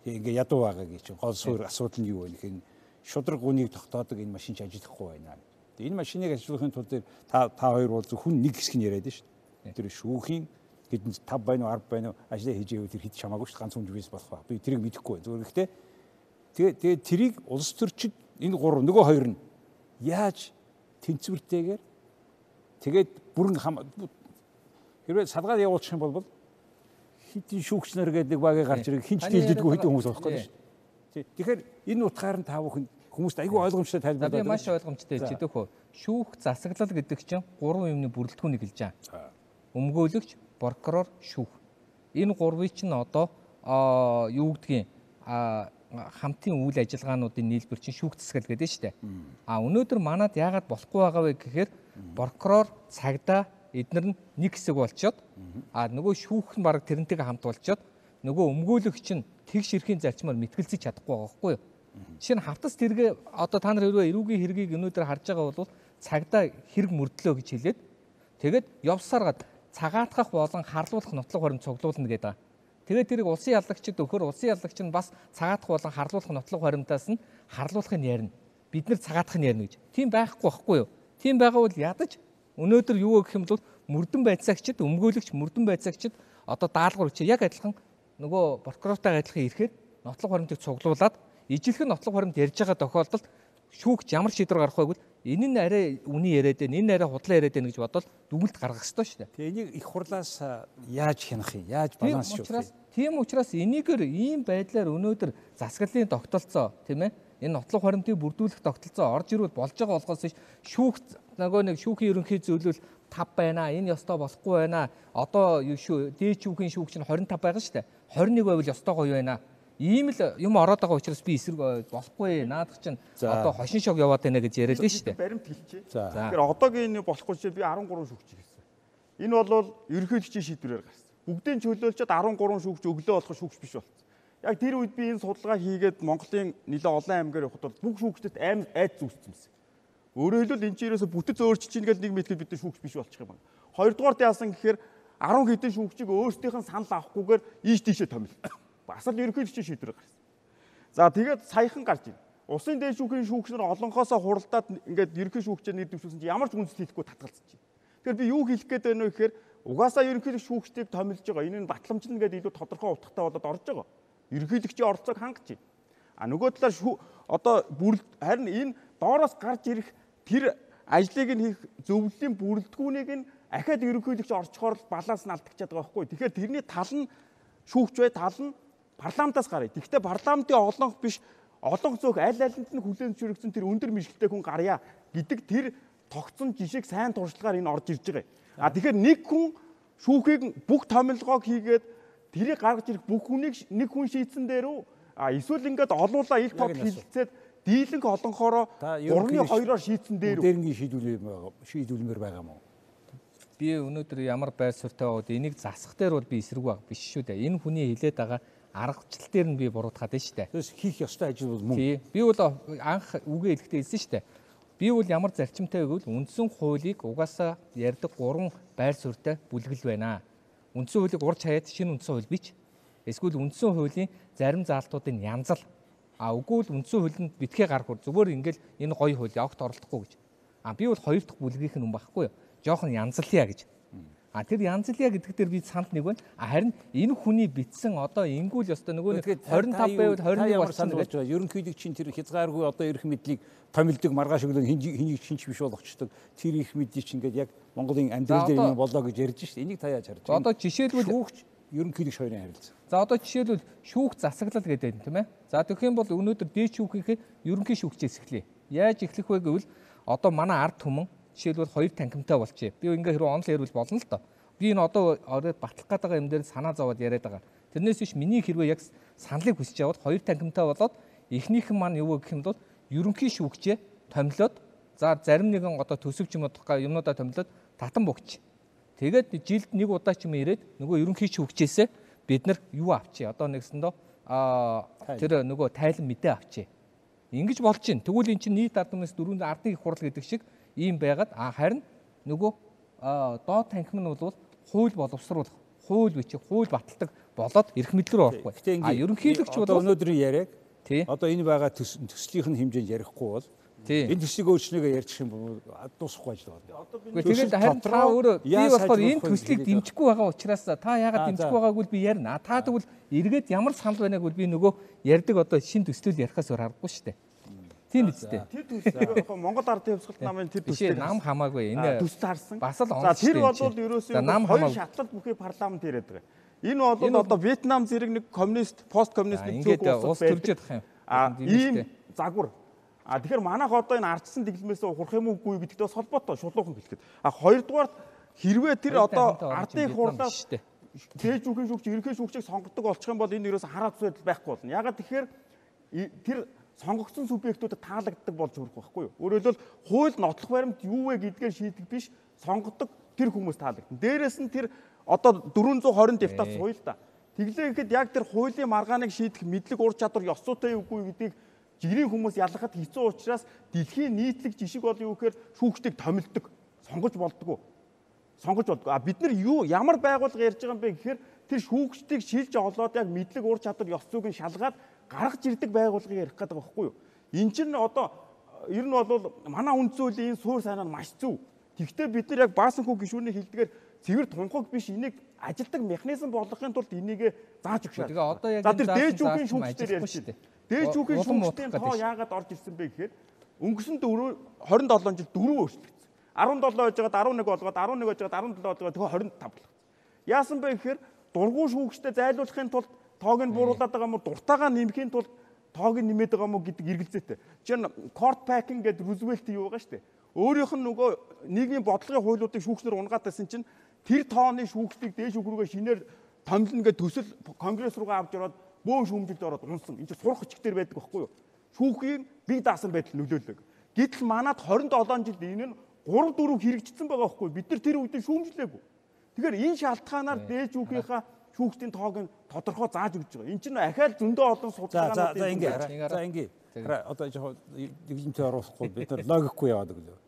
ингээ ядуу байгаагийн чинь гол суурь асуудал нь юу вэ гэхээр шудраг гүнийг тогтоодог энэ машин ч ажиллахгүй байна. Энэ машиныг ажиллуулахын тулд та та хоёр бол зөвхөн нэг хэсэг нь яриад шүү дээ. Тэр шүүхийн хэдэн тав байна уу арав байна уу ажлаа хийж ивэл тэр хэд чамаагүй шүү дээ. Ганц хүн жүжигс болох ба. Би тэрийг мэдэхгүй байна. Зүгээр гэхдээ тэгээ тэгээ тэрийг улс төрчид энэ гурав нөгөө хоёр нь яаж тэнцвэртэйгээр тэгээд бүрэн хэрвээ салгаад явуулчих юм бол хитэн шүүгч нар гэдэг нэг багийг гарч ирэх хинч дийлдэггүй хэдэн хүмүүс болохгүй шүү дээ. Тэгэхээр энэ утгаар нь та бүхэн хүмүүст айгүй ойлгомжтой тайлбарлаад байна. Би маш ойлгомжтой хэлж идэх хөө. Шүүх засаглал гэдэг чинь гурван юмны бүрэлдэхүүнийг хэлж байгаа. Өмгөөлөгч, прокурор, шүүх. Энэ гурвыг чинь одоо юу гэдгийг хамтын үйл ажиллагаануудын нийлбэр чинь шүүх засаглал гэдэг нь шүү дээ. А өнөөдөр манад яагаад болохгүй байгаа вэ гэхээр прокурор, цагдаа эдгээр нь нэг хэсэг болчоод а нөгөө шүүх нь баг тэрнтэйгээ хамт болчоод нөгөө өмгөөлөгч нь тэгш эрхийн зарчмаар мэтгэлцэж чадахгүй байгаа байхгүй юу? Жишээ нь хавтас тэргээ одоо та нар хэрвээ эрүүгийн хэргийг өнөөдөр харж байгаа бол цагдаа хэрэг мөрдлөө гэж хэлээд тэгээд явсаргаад цагаатгах болон харлуулах нотлох баримт цуглуулна гэдэг. Тэгээд тэрийг улсын яллагчид өгөхөр улсын яллагч нь бас цагаатгах болон харлуулах нотлох баримтаас нь харлуулахыг ярина. Бид нар цагаатгах нь ярина гэж. Тийм байхгүй байхгүй юу? Тийм байгаа бол ядаж өнөөдөр юу гэх юм бол мөрдөн байцаагчид өмгөөлөгч мөрдөн байцаагчид одоо даалгавар өгч яг адилхан нөгөө прокурортойгоо адилхан ирэхээр нотлох баримтыг цуглуулад ижилхэн нотлох баримт ярьж байгаа тохиолдолд шүүгч ямар шийдвэр гаргах вэ гэвэл энэ нь арай үний яриад байна, энэ арай худлаа яриад байна гэж бодоод дүгнэлт гаргах ёстой шүү дээ. Тэгээ энийг их хурлаас яаж хянах юм? Яаж балансшуулах юм? Тийм учраас энийгээр ийм байдлаар өнөөдөр засаглалын тогтолцоо тийм ээ энэ нотлох баримтыг бүрдүүлэх тогтолцоо орж ирвэл болж байгаа болохоос шүүх нөгөө нэг шүүхийн ерөнхий зөвлөл тав байна. Энэ ёстой болохгүй байна. Одоо дээд шүүхийн шүүгч нь двадцать пять байгаа шүү дээ. двадцать один байвал ёстой гоё байна. Ийм л юм ороод байгаа учраас би эсрэг болохгүй. Наадах чинь одоо хошин шог яваад байна гэж яриад нь шүү дээ. Баримт хэлчихье. Тэгэхээр одоогийн болохгүй чинь би арван гурван шүүгч хийсэн. Энэ бол ерөнхийлөгчийн шийдвэрээр гарсан. Бүгдийн чөлөөлчөд арван гурван шүүгч өглөө болох шүүгч биш болсон. Яг тэр үед би энэ судалгаа хийгээд Монголын нэлээд олон аймгаар явахад бол бүх шүүгчдэд аим айд зүссэн юмсэн. Өөрөөр хэлбэл энэ чинь ерөөсө бүтэц өөрчилж ийн гэдэг нэг мэтгэл бид нар шүүгч биш болчих юм байна. Хоёрдугаарт яасан гэхээр арван хэдэн шүүгчийг өөрсдийнх нь санал авахгүйгээр ийш тийшээ томил. Бас л ерөнхийлөгчийн шийдвэр гарсан. За тэгээд саяхан гарч ийн. Улсын дээд шүүхийн шүүгч нар олонхоосоо хуралдаад ингээд ерөнхий шүүгчээр нэр дэвшүүлсэн чинь ямар ч үндэслэл хийхгүй татгалзаж байна. Тэгэхээр би юу хэлэх гээд байна вэ гэхээр угаасаа ерөнхийлөгч шүүгчдийг томилж байгаа. Энэ нь батламжлна гэдэг илүү тодорхой утгатай болоод орж байгаа. Ерөнхийлөгчийн оролцоог хангаж байна. А нөгөө талаар одоо харин энэ доороос гарч ирэх тэр ажлыг нь хийх зөвлөлийн бүрэлдэхүүнийг нь ахаад ерөнхийлөгч орчхоор баланс нь алдчихад байгаа байхгүй. Тэгэхээр тэрний тал нь шүүгч бай, тал нь парламентаас гарыг. Тэгэхдээ парламентын олонх биш, олонх зөвх аль алинд нь хүлээн зөвшөөрөгдсөн тэр өндөр мэдлэгтэй хүн гарья гэдэг тэр тогтсон жишээг сайн туршлагаар энэ орж ирж байгаа. А тэгэхээр нэг хүн шүүхийг бүх томилгоог хийгээд тэрийг гаргаж ирэх бүх хүнийг нэг хүн шийдсэн дээрөө а эсвэл ингээд олуулаа их тод хилцээд дийлэнх олонхороо гурван хоёроор шийдсэн дээр дээрнгийн шийдвэр шийдвэрмээр байгаа мó. би өнөөдөр ямар байр суурьтай байгаад энийг засах дээр бол би эсрэг баг биш шүү дээ. Энэ хүний хилээд байгаа аргачлал дээр нь би буруутгаад байна шүү дээ. Тэгээс хийх ёстой ажил бол мөн. Тий. Би бол анх үгээ хэлэхдээ хэлсэн шүү дээ. Би бол ямар зарчимтай гэвэл үндсэн хуулийг угаасаа ярьдаг гурван байр суурьтай бүлгэл байна. Үндсэн хуулийг урж хаяад шинэ үндсэн хууль бич. Эсвэл үндсэн хуулийн зарим заалтуудын янзал. А үгүй л үндсэн хуулинд битгий гарах үр зүгээр ингээл энэ гоё хууль явахт оролдохгүй гэж. А би бол хоёр дахь бүлгийнх нь юм байхгүй юу? Жохон янзлъя гэж. А тэр янзлъя гэдэг дээр би санд нэг байна. А харин энэ хүний битсэн одоо ингүүл ёстой нөгөө двадцать пять байвал двадцать один болсон гэж байна. Ерөнхийдөө чинь тэр хязгааргүй одоо эрх мэдлийг томилдог маргааш өглөө хэнийг шинж биш болгочдөг. Тэр эрх мэдлийг чинь ингээд яг Монголын амьдрал дээр юм болоо гэж ярьж шít. Энийг та яаж харж байна? Одоо жишээлбэл шүүгч ерөнхийдөө хоёрын харилцаа. За одоо жишээлбэл шүүх засаглал гэдэг юм тийм ээ. За тэгэх юм бол өнөөдөр дээд шүүхийнхээ ерөнхий шүүгчээс эхлэе. Яаж эхлэх вэ гэвэл одоо манай ард түмэн жишээлбэл хоёр танхимтай болчихъя. Би ингээ хэрэг онол ярил болно л доо. Би энэ одоо ороод батлах гээд байгаа юм дээр санаа зовоод яриад байгаа. Тэрнээс биш миний хэрвээ яг саналыг хүсэж яваад хоёр танхимтай болоод эхнийхэн маань юу гэх юм бол ерөнхий шүүгчээ томилоод за зарим нэгэн одоо төсөвч юм уу юмнуудаа томилоод татан богч. Тэгээд жилд нэг удаа ч юм ирээд нөгөө ерөнхий шүүгчээсээ бид нар юу авчи. Одоо нэгсэндөө аа тэр нөгөө тайлан мэдээ авчи. Ингэж болж чинь. Тэгвэл эн чинь нийт ард түмнээс дөрөв ардын их хурал гэдэг шиг ийм байгаад а харин нөгөө доод танхим нь бол хууль боловсруулах, хууль бичих, хууль баталдаг болоод эрх мэдлэл рүү орохгүй. А ерөнхийлөгч бол өнөөдрийн яриаг одоо энэ байгаа төслийнх нь хэмжээнд ярихгүй бол энэ төслийг өөрчлөгөө ярьчих юм бол дуусахгүй ажил байна. Тэгээд харин та өөрөө би болохоор энэ төслийг дэмжихгүй байгаа учраас та яагаад дэмжихгүй байгааг бол би ярина. Та тэгвэл эргээд ямар санал байгааг бол би нөгөө ярьдаг одоо шин төслөл ярихаас өөр аргагүй шүү дээ. Тийм үстэй. Тэр төслийг Монгол Ардын Хувьсгалт намын тэр төслийг нам хамаагүй энэ төсөл харсан. Бас л за тэр бол ерөөсөө хоёр шатлал бүхий парламент ирээд байгаа. Энэ бол одоо Вьетнам зэрэг нэг коммунист, пост коммунист нэг зүг улс төрж ядах юм. А ийм загвар. А тэгэхээр манайх одоо энэ ардсан дэглэмээс хурах юм уугүй гэдэгтэй бас холбоотой шулуухан хэлэхэд. А хоёрдугаар хэрвээ тэр одоо ардын хурлаас дээд шүүхийн шүүгч, ерөнхий шүүгчийг сонгодог болчих юм бол энэ ерөөсөө хараад байдал байхгүй болно. Ягаад тэгэхээр тэр сонгогдсон субъектүүдэд таалагддаг болж хүрэх байхгүй юу? Өөрөөр хэлбэл хууль нотлох баримт юу вэ гэдгээр шийдэх биш, сонгодог тэр хүмүүс таалагдана. Дээрээс нь тэр одоо дөрвөн зуун хорин депутат сууя л да. Тэглээ гэхэд яг тэр хуулийн маргааныг шийдэх мэдлэг ур чадвар ёс зүйтэй үгүй гэдгийг жирийн хүмүүс ялгахад хэцүү учраас дэлхийн нийтлэг жишг бол юу гэхээр шүүгчдийг томилдог, сонгож болдгоо. Сонгож болдгоо. А бид нар юу ямар байгууллага ярьж байгаа юм бэ гэхээр тэр шүүгчдийг шилж олоод яг мэдлэг ур чадвар ёс зүйг нь шалгаад гаргаж ирдэг байгууллагыг ярих гэдэг байгаа байхгүй юу? Энд чинь одоо ер нь бол манай үндсэн хуулийн энэ суур сайнаа маш зөв. Тэгвэл бид нар яг баасан хүү гишүүний хэлдгээр цэвэр тунхаг биш энийг ажилтдаг механизм болгохын тулд энийг зааж өгч шээ. Тэгээ одоо яг за тэр дээд шүүхийн шүүгчдэр ярьж шүү дээ. Дээд шүүхийн шүүгчдийн тоо яагаад орж ирсэн бэ гэхээр өнгөрсөн двадцать seven жил дөрөв өөрчлөгдсөн. seventeen байжгаад eleven болгоод eleven байжгаад seventeen болгоод тэгээ twenty-five болгосон. Яасан бэ гэхээр дургуй шүүгчдэд зайлуулахын тулд тоог нь бууруулад байгаа юм уу дуртайгаа нэмэхийн тулд тоог нь нэмээд байгаа юм уу гэдэг эргэлзээтэй. Жишээ нь court packing гэдэг Рузвельт юу байгаа шүү дээ. Өөрийнх нь нөгөө нийгмийн бодлогын хуулиудыг шүүгчнэр унгаатайсан чинь тэр тооны шүүгчдийг дээш шүүх рүүгээ шинээр томилно гэдэг төсөл конгресс руугаа авч ороод бөөн шүүмжилд ороод унсан. Энд чинь сурах өчгтэр байдаг байхгүй юу? Шүүхийн бие даасан байдал нөлөөлөг. Гэтэл манад twenty-seven жилд энэ нь three four хэрэгжсэн байгаа байхгүй юу? Бид нар тэр үед шүүмжлээгүй. Тэгэхээр энэ шалтгаанаар дээж шүүхийнхаа шүүгчдийн тоог нь тодорхой зааж өгч байгаа. Энд чинь ахаал зөндөө олон судалгаанууд за ингэ за ингэ одоо жоохон дэглэмтэй оруулахгүй бид нар логикгүй яваад өглөө.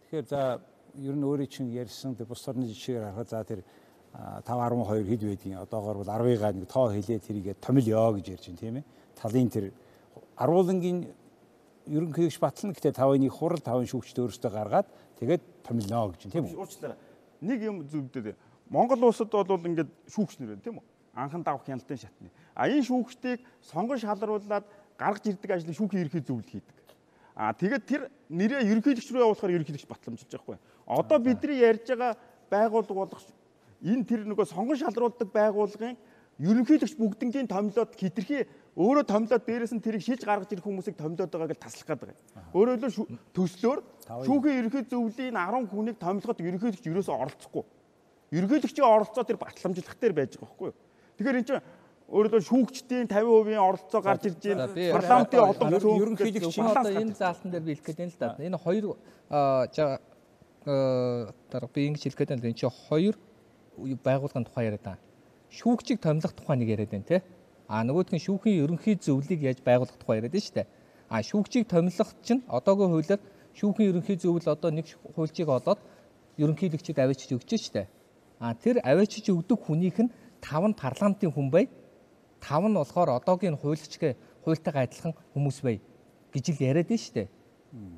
Тэгэхээр за ер нь өөрийн чинь ярьсан тэр бус орны жишээр харахад за тэр five twelve хэд байдгийг одоогоор бол ten-ыг нэг тоо хэлээ тэрийгээ томилё гэж ярьж байна тийм ээ. Талын тэр аруулангийн ерөнхийлөгч батлна гэхдээ five-ыг хурал five шүүгчд өөрсдөө гаргаад тэгээд томилно гэж тийм үү. Уучлаарай. Нэг юм зөвдөө. Монгол улсад бол ингээд шүүгчнэр байна тийм үү? Анхан давх хяналтын шатны. А энэ шүүгчдийг сонгон шалруулад гаргаж ирдэг ажлыг шүүхийн ерхий зөвлөлт хийдэг. А тэгээд тэр нэрээ ерөнхийлөгч рүү явуулахаар ерөнхийлөгч батламжилж байгаа байхгүй. Одоо бидний ярьж байгаа байгууллага болох энэ тэр нөгөө сонгон шалруулдаг байгууллагын ерөнхийлөгч бүгднгийн томилоод хитрхи өөрөө томилоод дээрээс нь тэрийг шилж гаргаж ирэх хүмүүсийг томилоод байгаа гэж таслах гэдэг. Өөрөөр хэлбэл төслөөр шүүхийн ерөнхий зөвлөлийн ten хүнийг томилоход ерөнхийлөгч ерөөсөө оролцохгүй. Ерөнхийлөгчийн оролцоо тэр батламжлах дээр байж байгаа байхгүй юу? Тэгэхээр энэ чинь өөрөлдөө шүүгчдийн fifty percent оролцоо гарч ирж байна. Парламентын олон ерөнхийлөгчийн одоо энэ заалтан дээр би хэлэх гээд байна л да. Энэ хоёр дарга би ингэж хэлэх гээд байна. Энд чинь хоёр байгууллагын тухай яриад байгаа. Шүүгчийг томилох тухай нэг яриад байна те. А нөгөөх нь шүүхийн ерөнхий зөвлөлийг яаж байгуулах тухай яриад байна шүү дээ. А шүүгчийг томилох чинь одоогийн хуулиар шүүхийн ерөнхий зөвлөл одоо нэг хуульчийг олоод ерөнхийлөгчөд авчиж өгч шүү дээ. А тэр авчиж өгдөг хүнийх нь тав нь парламентын хүн бай. тав нь болохоор одоогийн хуулийн хуультайгаа адилхан хүмүүс бай гэж л яриад байна шүү дээ.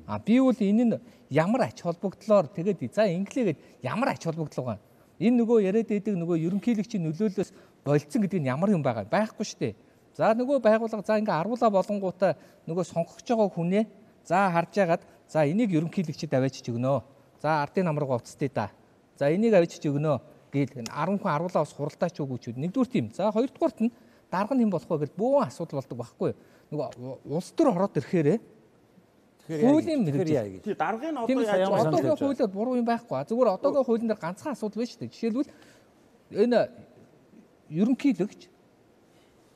А би бол энэ нь ямар ач холбогдлоор тэгээд за инглигээд ямар ач холбогдол байгаа. Энэ нөгөө яриад байдаг нөгөө ерөнхийлөгчийн нөлөөллөөс болцсон гэдэг нь ямар юм байгаа байхгүй шүү дээ. За нөгөө байгууллага за ингээ аруулаа болонгуудаа нөгөө сонгогч байгаа хүнээ за харж яагаад за энийг ерөнхийлөгчөд аваачиж өгнө. За ардын намраг уцтыг да. За энийг аваачиж өгнө гээл арван хүн аруулаа бас хуралдаач өгөөч. Нэгдүгээр тийм. За хоёрдугаарт нь дарга нь хэн болох вэ гэж бөөн асуудал болдог байхгүй. Нөгөө улс төр ороод ирэхээрээ хуулийн мэрэгжил. Тий даргын одоо яаж одоогийн хуулиар буруу юм байхгүй. Зүгээр одоогийн хуулийн дээр ганцхан асуудал байна шүү дээ. Жишээлбэл энэ ерөнхийлөгч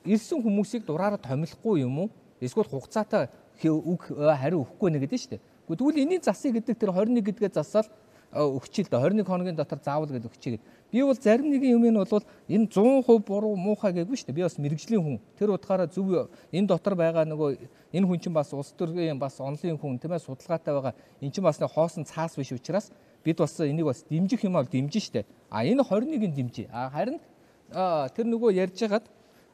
ирсэн хүмүүсийг дураараа томилохгүй юм уу? Эсвэл хугацаатай үг хариу өгөхгүй нэ гэдэг шүү дээ. Тэгвэл энэний засыг гэдэг тэр двадцать one гэдгээ засаал өгчил дээ. twenty-one хоногийн дотор заавал гэдэг өгчигээд. Би бол зарим нэгэн юм нь бол энэ one hundred percent буруу муухай гэгүй шүү дээ. Би бас мэрэгжлийн хүн. Тэр утгаараа зөв энэ дотор байгаа нөгөө энэ хүн чинь бас улс төрийн бас онлын хүн тийм ээ судалгаатай байгаа. Энэ чинь бас хоосон цаас биш учраас бид бас энийг бас дэмжих юм бол дэмжин шүү дээ. А энэ twenty one-ыг дэмжиж. А харин тэр нөгөө ярьж хагаад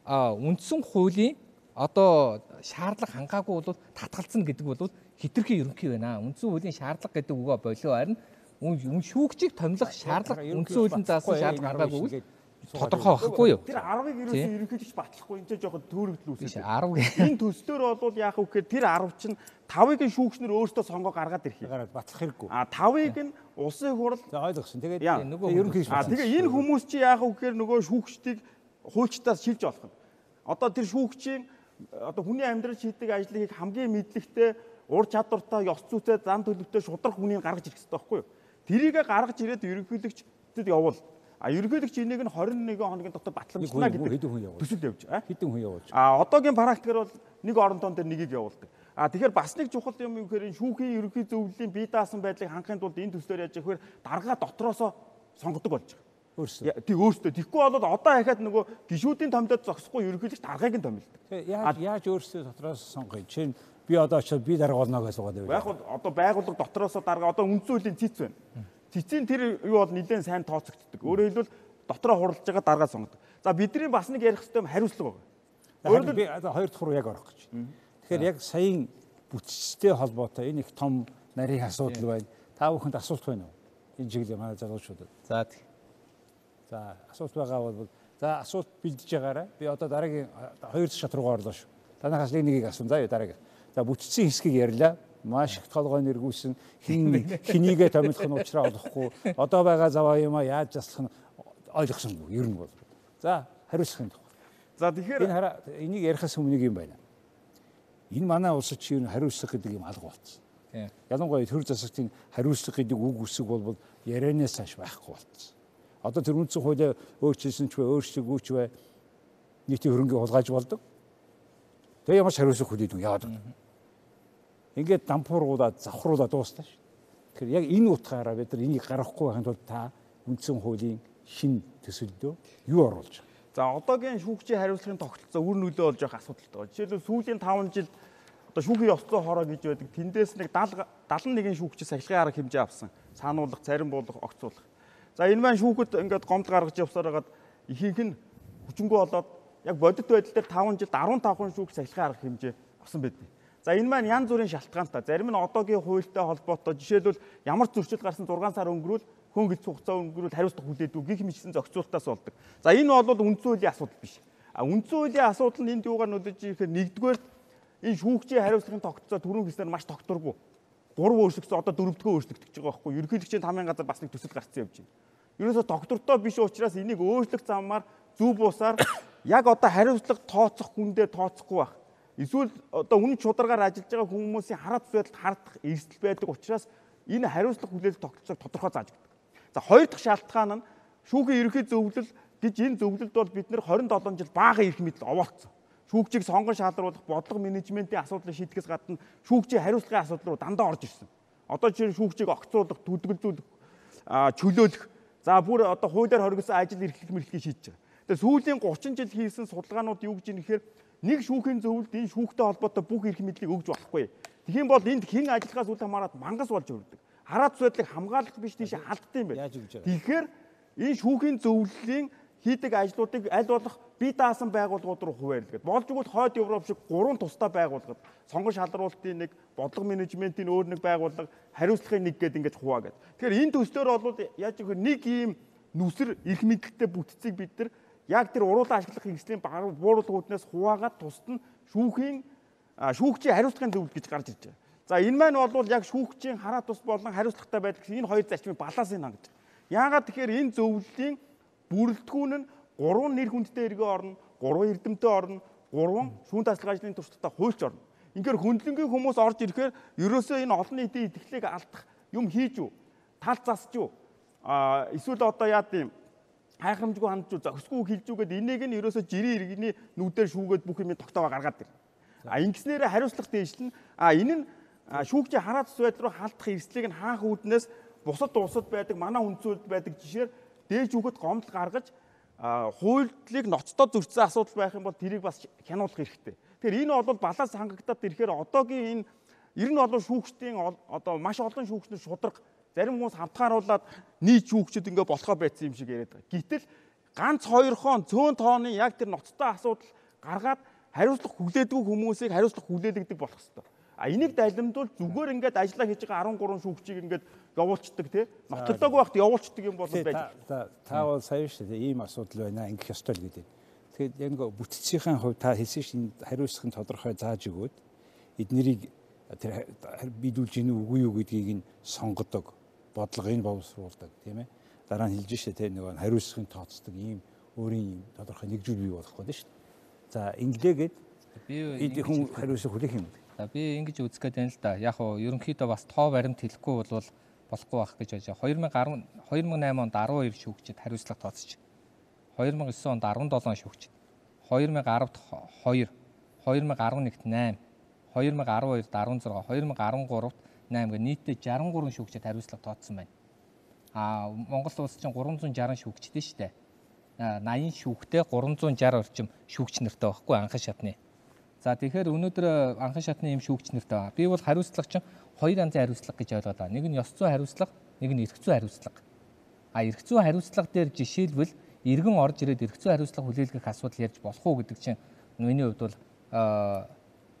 үндсэн хуулийн одоо шаардлага хангаагүй бол татгалцна гэдэг бол хитрхи ерөнхий байна. Үндсэн хуулийн шаардлага гэдэг үгөө болоо харин үн шүүгчийг томилох шаардлага үндсэн хуулийн заасан шаардлага хангаагүй тодорхой байхгүй юу? Тэр ten-ыг ерөөсөө ерөнхийлөгч батлахгүй энэ ч жоохон төөрөгдөл үүсэж байна. Энэ төслөөр бол яах вэ гэхээр тэр ten чинь five-ыг нь шүүгчнэр өөрсдөө сонгоо гаргаад ирэх юм. Гараад батлах хэрэггүй. А five-ыг нь улсын хурал ойлгосон. Тэгээд нөгөө ерөнхийлөгч. А тэгээ энэ хүмүүс чи яах вэ гэхээр нөгөө шүүгчдийг хуульчтаас шилж олох нь. Одоо тэр шүүгчийн одоо хүний амьдрал шийдэг ажлыг хамгийн мэдлэгтэй, ур чадвартай, ёс зүйтэй, зан төлөвтэй шударга хүнийг гаргаж ирэх хэрэгтэй байхгүй юу? Тэрийг гаргаж ирээд ерөнхийлөгчдөд явуул. А ерөнхийлөгч энийг нь twenty-one хоногийн дотор батламжлана гэдэг төсөл явж байгаа. Хэдэн хүн явуулж. А одоогийн практикаар бол нэг орон тоон дээр нэгийг явуулдаг. А тэгэхээр бас нэг чухал юм юу гэхээр энэ шүүхийн ерөнхий зөвлөлийн бие даасан байдлыг хангахын тулд энэ төслөөр яаж яхаар дарга дотроосоо сонгодог болж байгаа. Өөрсдөө. Тэг өөрсдөө. Тэгэхгүй бол одоо дахиад нөгөө гишүүдийн томдод зогсохгүй ерөнхийлөгч даргаыг нь томилдог. Яаж яаж өөрсдөө дотроос сонгоё? Чинь би одоо очиод би дарга болно гэж суугаад байв. Яг бол одоо байгууллага дотроосоо дарга одоо үндсэн хуулийн цэц байна. Цэцийн тэр юу бол нэлээд сайн тооцогддог. Өөрөөр хэлбэл дотроо хуралж байгаа даргаа сонгодог. За бидний бас нэг ярих хэрэгтэй хариуцлага байгаа. Өөрөөр би одоо хоёр дахь руу яг орох гэж байна. Тэгэхээр яг саяын бүтцтэй холбоотой энэ их том нарийн асуудал байна. Та бүхэнд асуулт байна уу? Энэ чиглэлийн манай залуучуудад. За За асуулт байгаа бол за асуулт бэлдэж байгаарай. Би одоо дараагийн хоёр дахь шат руугаа орлоо шүү. Танахаас нэг нэгийг асуун заа юу дараагийн. За бүтцийн хэсгийг ярьлаа. Маш их толгой нэргүүлсэн хин хинийгээ томилох нь уучраа олохгүй. Одоо байгаа заваа юм а яаж заслах нь ойлгосонгүй ер нь бол. За хариуцлахын тухай. За тэгэхээр энэ хараа энийг ярихаас өмнө нэг юм байна. Энэ манай улсад чи ер нь хариуцлах гэдэг юм алга болцсон. Ялангуяа төр засагтын хариуцлах гэдэг үг үсэг бол ярианаас хойш байхгүй болцсон. Одоо тэр үндсэн хуулиа өөрчилсөн ч бай, өөрчлөггүй ч бай нийтийн хөрөнгө хулгайж болдог. Тэгээ ямар ч хариуцлах хүлээдэг яагаад вэ? Ингээд дампууруулаад завхруулаад дуустаа шүү. Тэгэхээр яг энэ утгаараа бид нар энийг гаргахгүй байхын тулд та үндсэн хуулийн шин төсөлдөө юу оруулж байгаа? За одоогийн шүүгчийн хариуцлагын тогтолцоо үр нөлөө болж байгаа асуудалтай байна. Жишээлбэл сүүлийн five жил одоо шүүхийн ёс зүйн хороо гэж байдаг. Тэндээс нэг seventy-one шүүгчид сахилгын арга хэмжээ авсан. Сануулгах, зарим буулгах, огцуулах. За энэ маань шүүхэд ингээд гомд гаргаж явсаар хагаад ихэнх нь хүчингү болоод яг бодит байдал дээр five жилд fifteen хүн шүүгч сахилгын арга хэмжээ авсан байдаг. За энэ маань янз бүрийн шалтгаантай. Зарим нь одоогийн хуультай холбоотой. Жишээлбэл ямар зөрчил гарсан six сар өнгөрүүл хөнгөлц хугацаа өнгөрүүл хариуцлага хүлээдэг гих мэтсэн зохицуултаас болдог. За энэ бол үндсэн хуулийн асуудал биш. А үндсэн хуулийн асуудал нь энд юугаар нөлөөлж ирэхээр нэгдүгээр энэ шүүгчийн хариуцлагын тогтолцоо түрүүн хэлснээр маш тогтворгүй. Гурав өөрчлөгдсөн одоо дөрөвдүгээр өөрчлөгдөж байгаа байхгүй. Ерөнхийлөгчийн тамийн газар бас нэг төсөл гарцсан явж байна. Ерөөсө доктортой биш учраас энийг өөрчлөх замаар зөв бусаар яг одоо хариуцлага тооцох хүндээ тооцохгүй байх. Эсвэл одоо үнэн чударгаар ажиллаж байгаа хүмүүсийн хараат байдалд хардах эрсдэл байдаг учраас энэ хариуцлага хүлээлт тогтолцоог тодорхой зааж өгдөг. За хоёр дахь шалтгаан нь шүүхийн ерөнхий зөвлөл гэж энэ зөвлөлд бол бид нэр twenty-seven жил бага эрх мэдэл овоолцсон. Шүүгчийг сонгон шалгаруулах, бодлого менежментийн асуудлыг шийдэхээс гадна шүүгчийн хариуцлагын асуудал руу дандаа орж ирсэн. Одоо жишээ нь шүүгчийг огцруулах, төдөлгөлзүүлэх чөлөөлөх. За бүр одоо хуулиар хоригдсон ажил эрхлэх мэрхлийг шийдэж байгаа. Тэгээ сүүлийн гучин жил хийсэн судалгаанууд юу гэж нэхэр нэг шүүхийн зөвлөлд энэ шүүхтэй холбоотой бүх эрх мэдлийг өгж болохгүй. Тэгхийн бол энд хэн ажиллахаас үл хамааран мангас болж өрдөг. Хараат судлыг хамгаалах биш тийш алддаг юм байна. Тэгэхээр энэ шүүхийн зөвлөлийн хийдэг ажлуудыг аль болох бие даасан байгууллагууд руу хуваарлагдав. Болж игэл хойд Европ шиг гурван тусдаа байгууллагад сонгон шалруулалтын нэг, бодлого менежментийн өөр нэг байгууллага, хариуцлагын нэг гэдэг ингэж хуваагаад. Тэгэхээр энэ төслөөр бол яаж гэвэл нэг ийм нүсэр эрх мэдэлтэй бүтцийг бид нар яг тэр уруулан ашиглах хэрэгслийн бууруулгууднаас хуваагаад тусад нь шүүхийн шүүгчийн хариуцлагын зөвлөлт гэж гарч ирж байгаа. За энэ маань бол яг шүүгчийн хараат тус болон хариуцлагатай байдаг энэ хоёр зарчмыг балансыг хангаж байгаа. Яагаад тэгэхээр энэ зөвлөлийн бүрэлдэхүүн нь гурван нэр хүндтэй эргээ орно, гурван эрдэмтэн орно, гурван шүүн таслах ажлын туршлагатай хуульч орно. Ингээр хөндлөнгийн хүмүүс орж ирэхээр ерөөсөө энэ олон нийтийн итгэлийг алдах юм хийж юу? Тал засч юу? А эсвэл одоо яа гэм хайхрамжгүй хандж юу, зохисгүй хэлж юу гэдэг энийг нь ерөөсөө жирийн иргэний нүдээр шүүгээд бүх юм тогтоогоо гаргаад ирнэ. А ингэснээр хариуцлага дэвшлэн а энэ нь шүүгчийн хараат ус байдал руу халдах эрсдлийг нь хаах үүднээс бусад улсад байдаг, манай хүнцүүлд байдаг жишээр дээж үгэд гомдол гаргаж хуулийг ноцтой зөрчсөн асуудал байх юм бол тэрийг бас хянуулах хэрэгтэй. Тэгэхээр энэ бол баланс хангагдаад ирэхээр одоогийн энэ ер нь бол шүүгчдийн одоо маш олон шүүгчнэр шударга зарим хүмүүс хамтгааруулаад нийт шүүгчд ингээ болохоо байцсан юм шиг яриад байгаа. Гэтэл ганц хоёр хон цөөн тооны яг тэр ноцтой асуудал гаргаад хариуцлага хүлээдгүй хүмүүсийг хариуцлага хүлээлгдэг болох хэрэгтэй. А энийг далимдуул зүгээр ингээд ажиллаа хийж байгаа арван гурван шүүгчийг ингээд явуулцдаг тий. Нотлоогүй байхад явуулцдаг юм бол байж. Та бол сая шүү дээ ийм асуудал байна ингэх ёстой л гэдэг. Тэгэхээр яг нэг бүтцийн хувьд та хэлсэн чинь хариуцлагын тодорхой зааж өгөөд эднэрийг тэр бидүүлж ийн үгүй юу гэдгийг нь сонгодог, бодлогыг боловсруулдаг тийм ээ. Дараа нь хэлж штэ тий нэг хариуцлагын тооцдог ийм өөрийн тодорхой нэгжүүл бий болох гэдэг шүү дээ. За инглээгээд би хүн хариуцлага хүлээх юм. Би ингэж үзэх гээд байна л да. Яг нь ерөнхийдөө бас тоо баримт хэлэхгүй бол болохгүй байх гэж бодож байна. хоёр мың и осем онд арван хоёр шүүгчид хариуцлага тооцож. хоёр мың и девэн онд арван долоо шүүгчид. хоёр мың и десад хоёр, хоёр мың и одиннадцать найман, хоёр мың и дөрвөн арван зургаан, хоёр мың и дөрвөн найман гэх нийтдээ жарган гурван шүүгчид хариуцлага тооцсон байна. Аа Монгол улс чинь гурван зуун жарган шүүгчтэй шүү дээ. наян шүүгтэй гурван зуун шарх орчим шүүгч нартай байхгүй анхан шатны. За тэгэхээр өнөөдөр анхан шатны юм шүүгч нартай байна. Би бол хариуцлага чинь хоёр янзын хариуцлага гэж ойлгоод байна. Нэг нь ёс зүйн хариуцлага, нэг нь эрх зүйн хариуцлага. А эрх зүйн хариуцлага дээр жишээлбэл иргэн орж ирээд эрх зүйн хариуцлага хүлээлгэх асуудал ярьж болох уу гэдэг чинь миний хувьд бол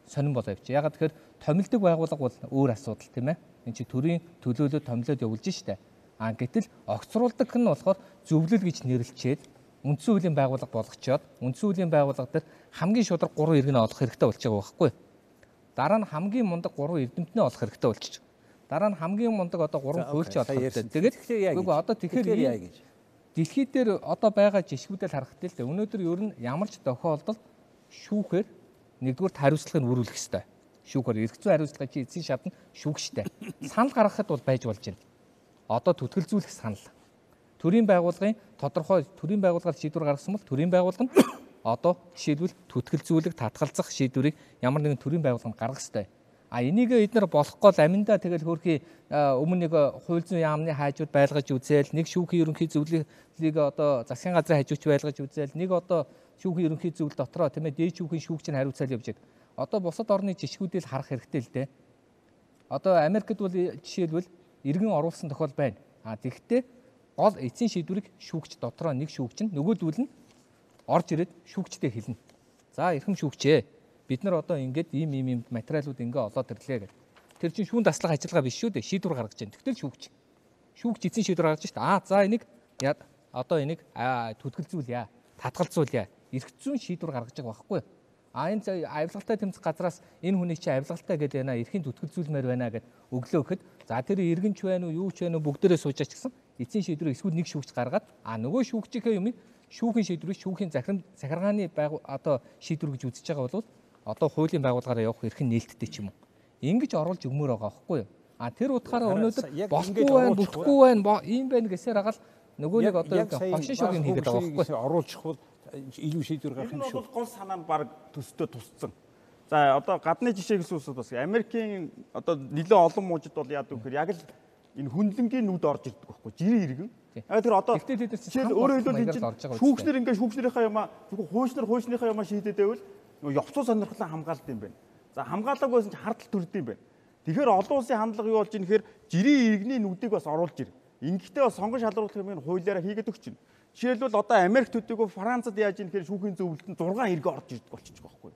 сонирн болоо явчих. Ягаад тэгэхээр томилдог байгууллага бол өөр асуудал тийм ээ. Энд чи төрийн төлөөлөлд томилоод явуулж штэ. А гэтэл огцруулдаг нь болохоор зөвлөл гэж нэрлэлчээд үндсэн хуулийн байгууллага болгочоод үндсэн хуулийн байгууллага дээр хамгийн шударга гурван иргэнэ олох хэрэгтэй болж байгаа байхгүй. Дараа нь хамгийн мундаг гурван эрдэмтнээ олох хэрэгтэй болчих. Дараа нь хамгийн мундаг одоо гурван хуульч олох хэрэгтэй. Тэгээд үгүй одоо тэгэхээр яа гэж. Дэлхийд дээр одоо байгаа жишгүүдэл харахад л өнөөдөр ер нь ямар ч тохиолдолд шүүхээр нэгдүгээр хариуцлагыг өрүүлэх хэрэгтэй. Шүүхээр эрх зүйн хариуцлага чи эцсийн шатнд шүүгчтэй. Санал гаргахад бол байж болж байна. Одоо түтгэлзүүлэх санал. Төрийн байгууллагын тодорхой төрийн байгууллагаар шийдвэр гаргасан бол төрийн байгууллага нь одоо жишээлбэл түтгэлзүүлэх, татгалзах шийдвэрийг ямар нэгэн төрийн байгууллага гаргах ёстой. А энийг эдгээр болохгүй л аминдаа тэгэл хөрхий өмнө нэг хууль зүйн яамны хайжууд байлгаж үзээл, нэг шүүхийн ерөнхий зөвлөлийг одоо засгийн газрын хажууч байлгаж үзээл, нэг одоо шүүхийн ерөнхий зөвлөл дотроо тийм ээ дээд шүүхийн шүүгчний хариуцаал явж байгаа. Одоо бусад орны жишгүүдийг харах хэрэгтэй л дээ. Одоо Америкт бол жишээлбэл иргэн оруулсан тохиол байна. А тэгвэл гол эцсийн шийдвэрийг шүүгч дотроо нэг шүүгч нь нөгөөдүүл нь орж ирээд шүүгчтэй хэлнэ. За эрхэм шүүгчээ. Бид нар одоо ингээд ийм ийм ийм материалууд ингээ олоод ирлээ гэдэг. Тэр чинь шүүн таслах ажиллагаа биш шүү дээ. Шийдвэр гаргаж байна. Тэгтэл шүүгч. Шүүгч эцсийн шийдвэр гаргаж шүү дээ. Аа за энийг одоо энийг түтгэлзүүлье. Татгалзуулъя. Эрх зүйн шийдвэр гаргаж байгаа байхгүй. А энэ авилгалтай тэмцэх газраас энэ хүний чинь авилгалтай гэдэг байна. Эрхийн түтгэлзүүлмээр байна гэд өглөө гэхэд за тэр иргэнч байна уу, юу ч байна уу бүгдээрээ суужаач гэсэн эцсийн шийдвэрийг эсвэл нэг шүүгч гаргаад а нөгөө шүүгчийнхээ юмыг шүүхийн шийдвэрийг шүүхийн захирам захиргааны одоо шийдвэр гэж үзэж байгаа бол одоо хуулийн байгууллагаараа явах эрх нь нээлттэй ч юм уу. Ингэж оруулж өгмөр байгаа байхгүй юу? А тэр утгаараа өнөөдөр болохгүй байна, бүтэхгүй байна, ийм байна гэсээр агаал нөгөө нэг одоо хошин шогийн хийгээд байгаа байхгүй юу? Оруулчих бол илүү шийдвэр гарах юм шүү. Гол санаа нь баг төстэй тусцсан. За одоо гадны жишээ гэсэн үсэд бас Америкийн одоо нэлээд олон мужид бол яадаг гэхээр яг л энэ хүнлэнгийн нүд орж ирдэг байхгүй жирийн иргэн. Аа тэр одоо жишээл өөрөөр хэлбэл энэ шүүгчнэр ингээд шүүгчнэрийнхаа юмаа зөвхөн хуучнар хуучныхаа юмаа шийдээд байвал нөгөө явцуу сонирхлын хамгаалалт юм байна. За хамгаалаагүй байсан ч хардтал төрд юм байна. Тэгэхээр олон улсын хандлага юу болж ийм гэхээр жирийн иргэний нүдийг бас оруулж ир. Ингэхдээ бас сонгон шалруулах юм хуулиараа хийгээд өгч байна. Жишээлбэл одоо Америк төдийгүй Францад яаж ийм гэхээр шүүхийн зөвлөлтөнд зургаан хэрэг орж ирдэг болчих жоохгүй.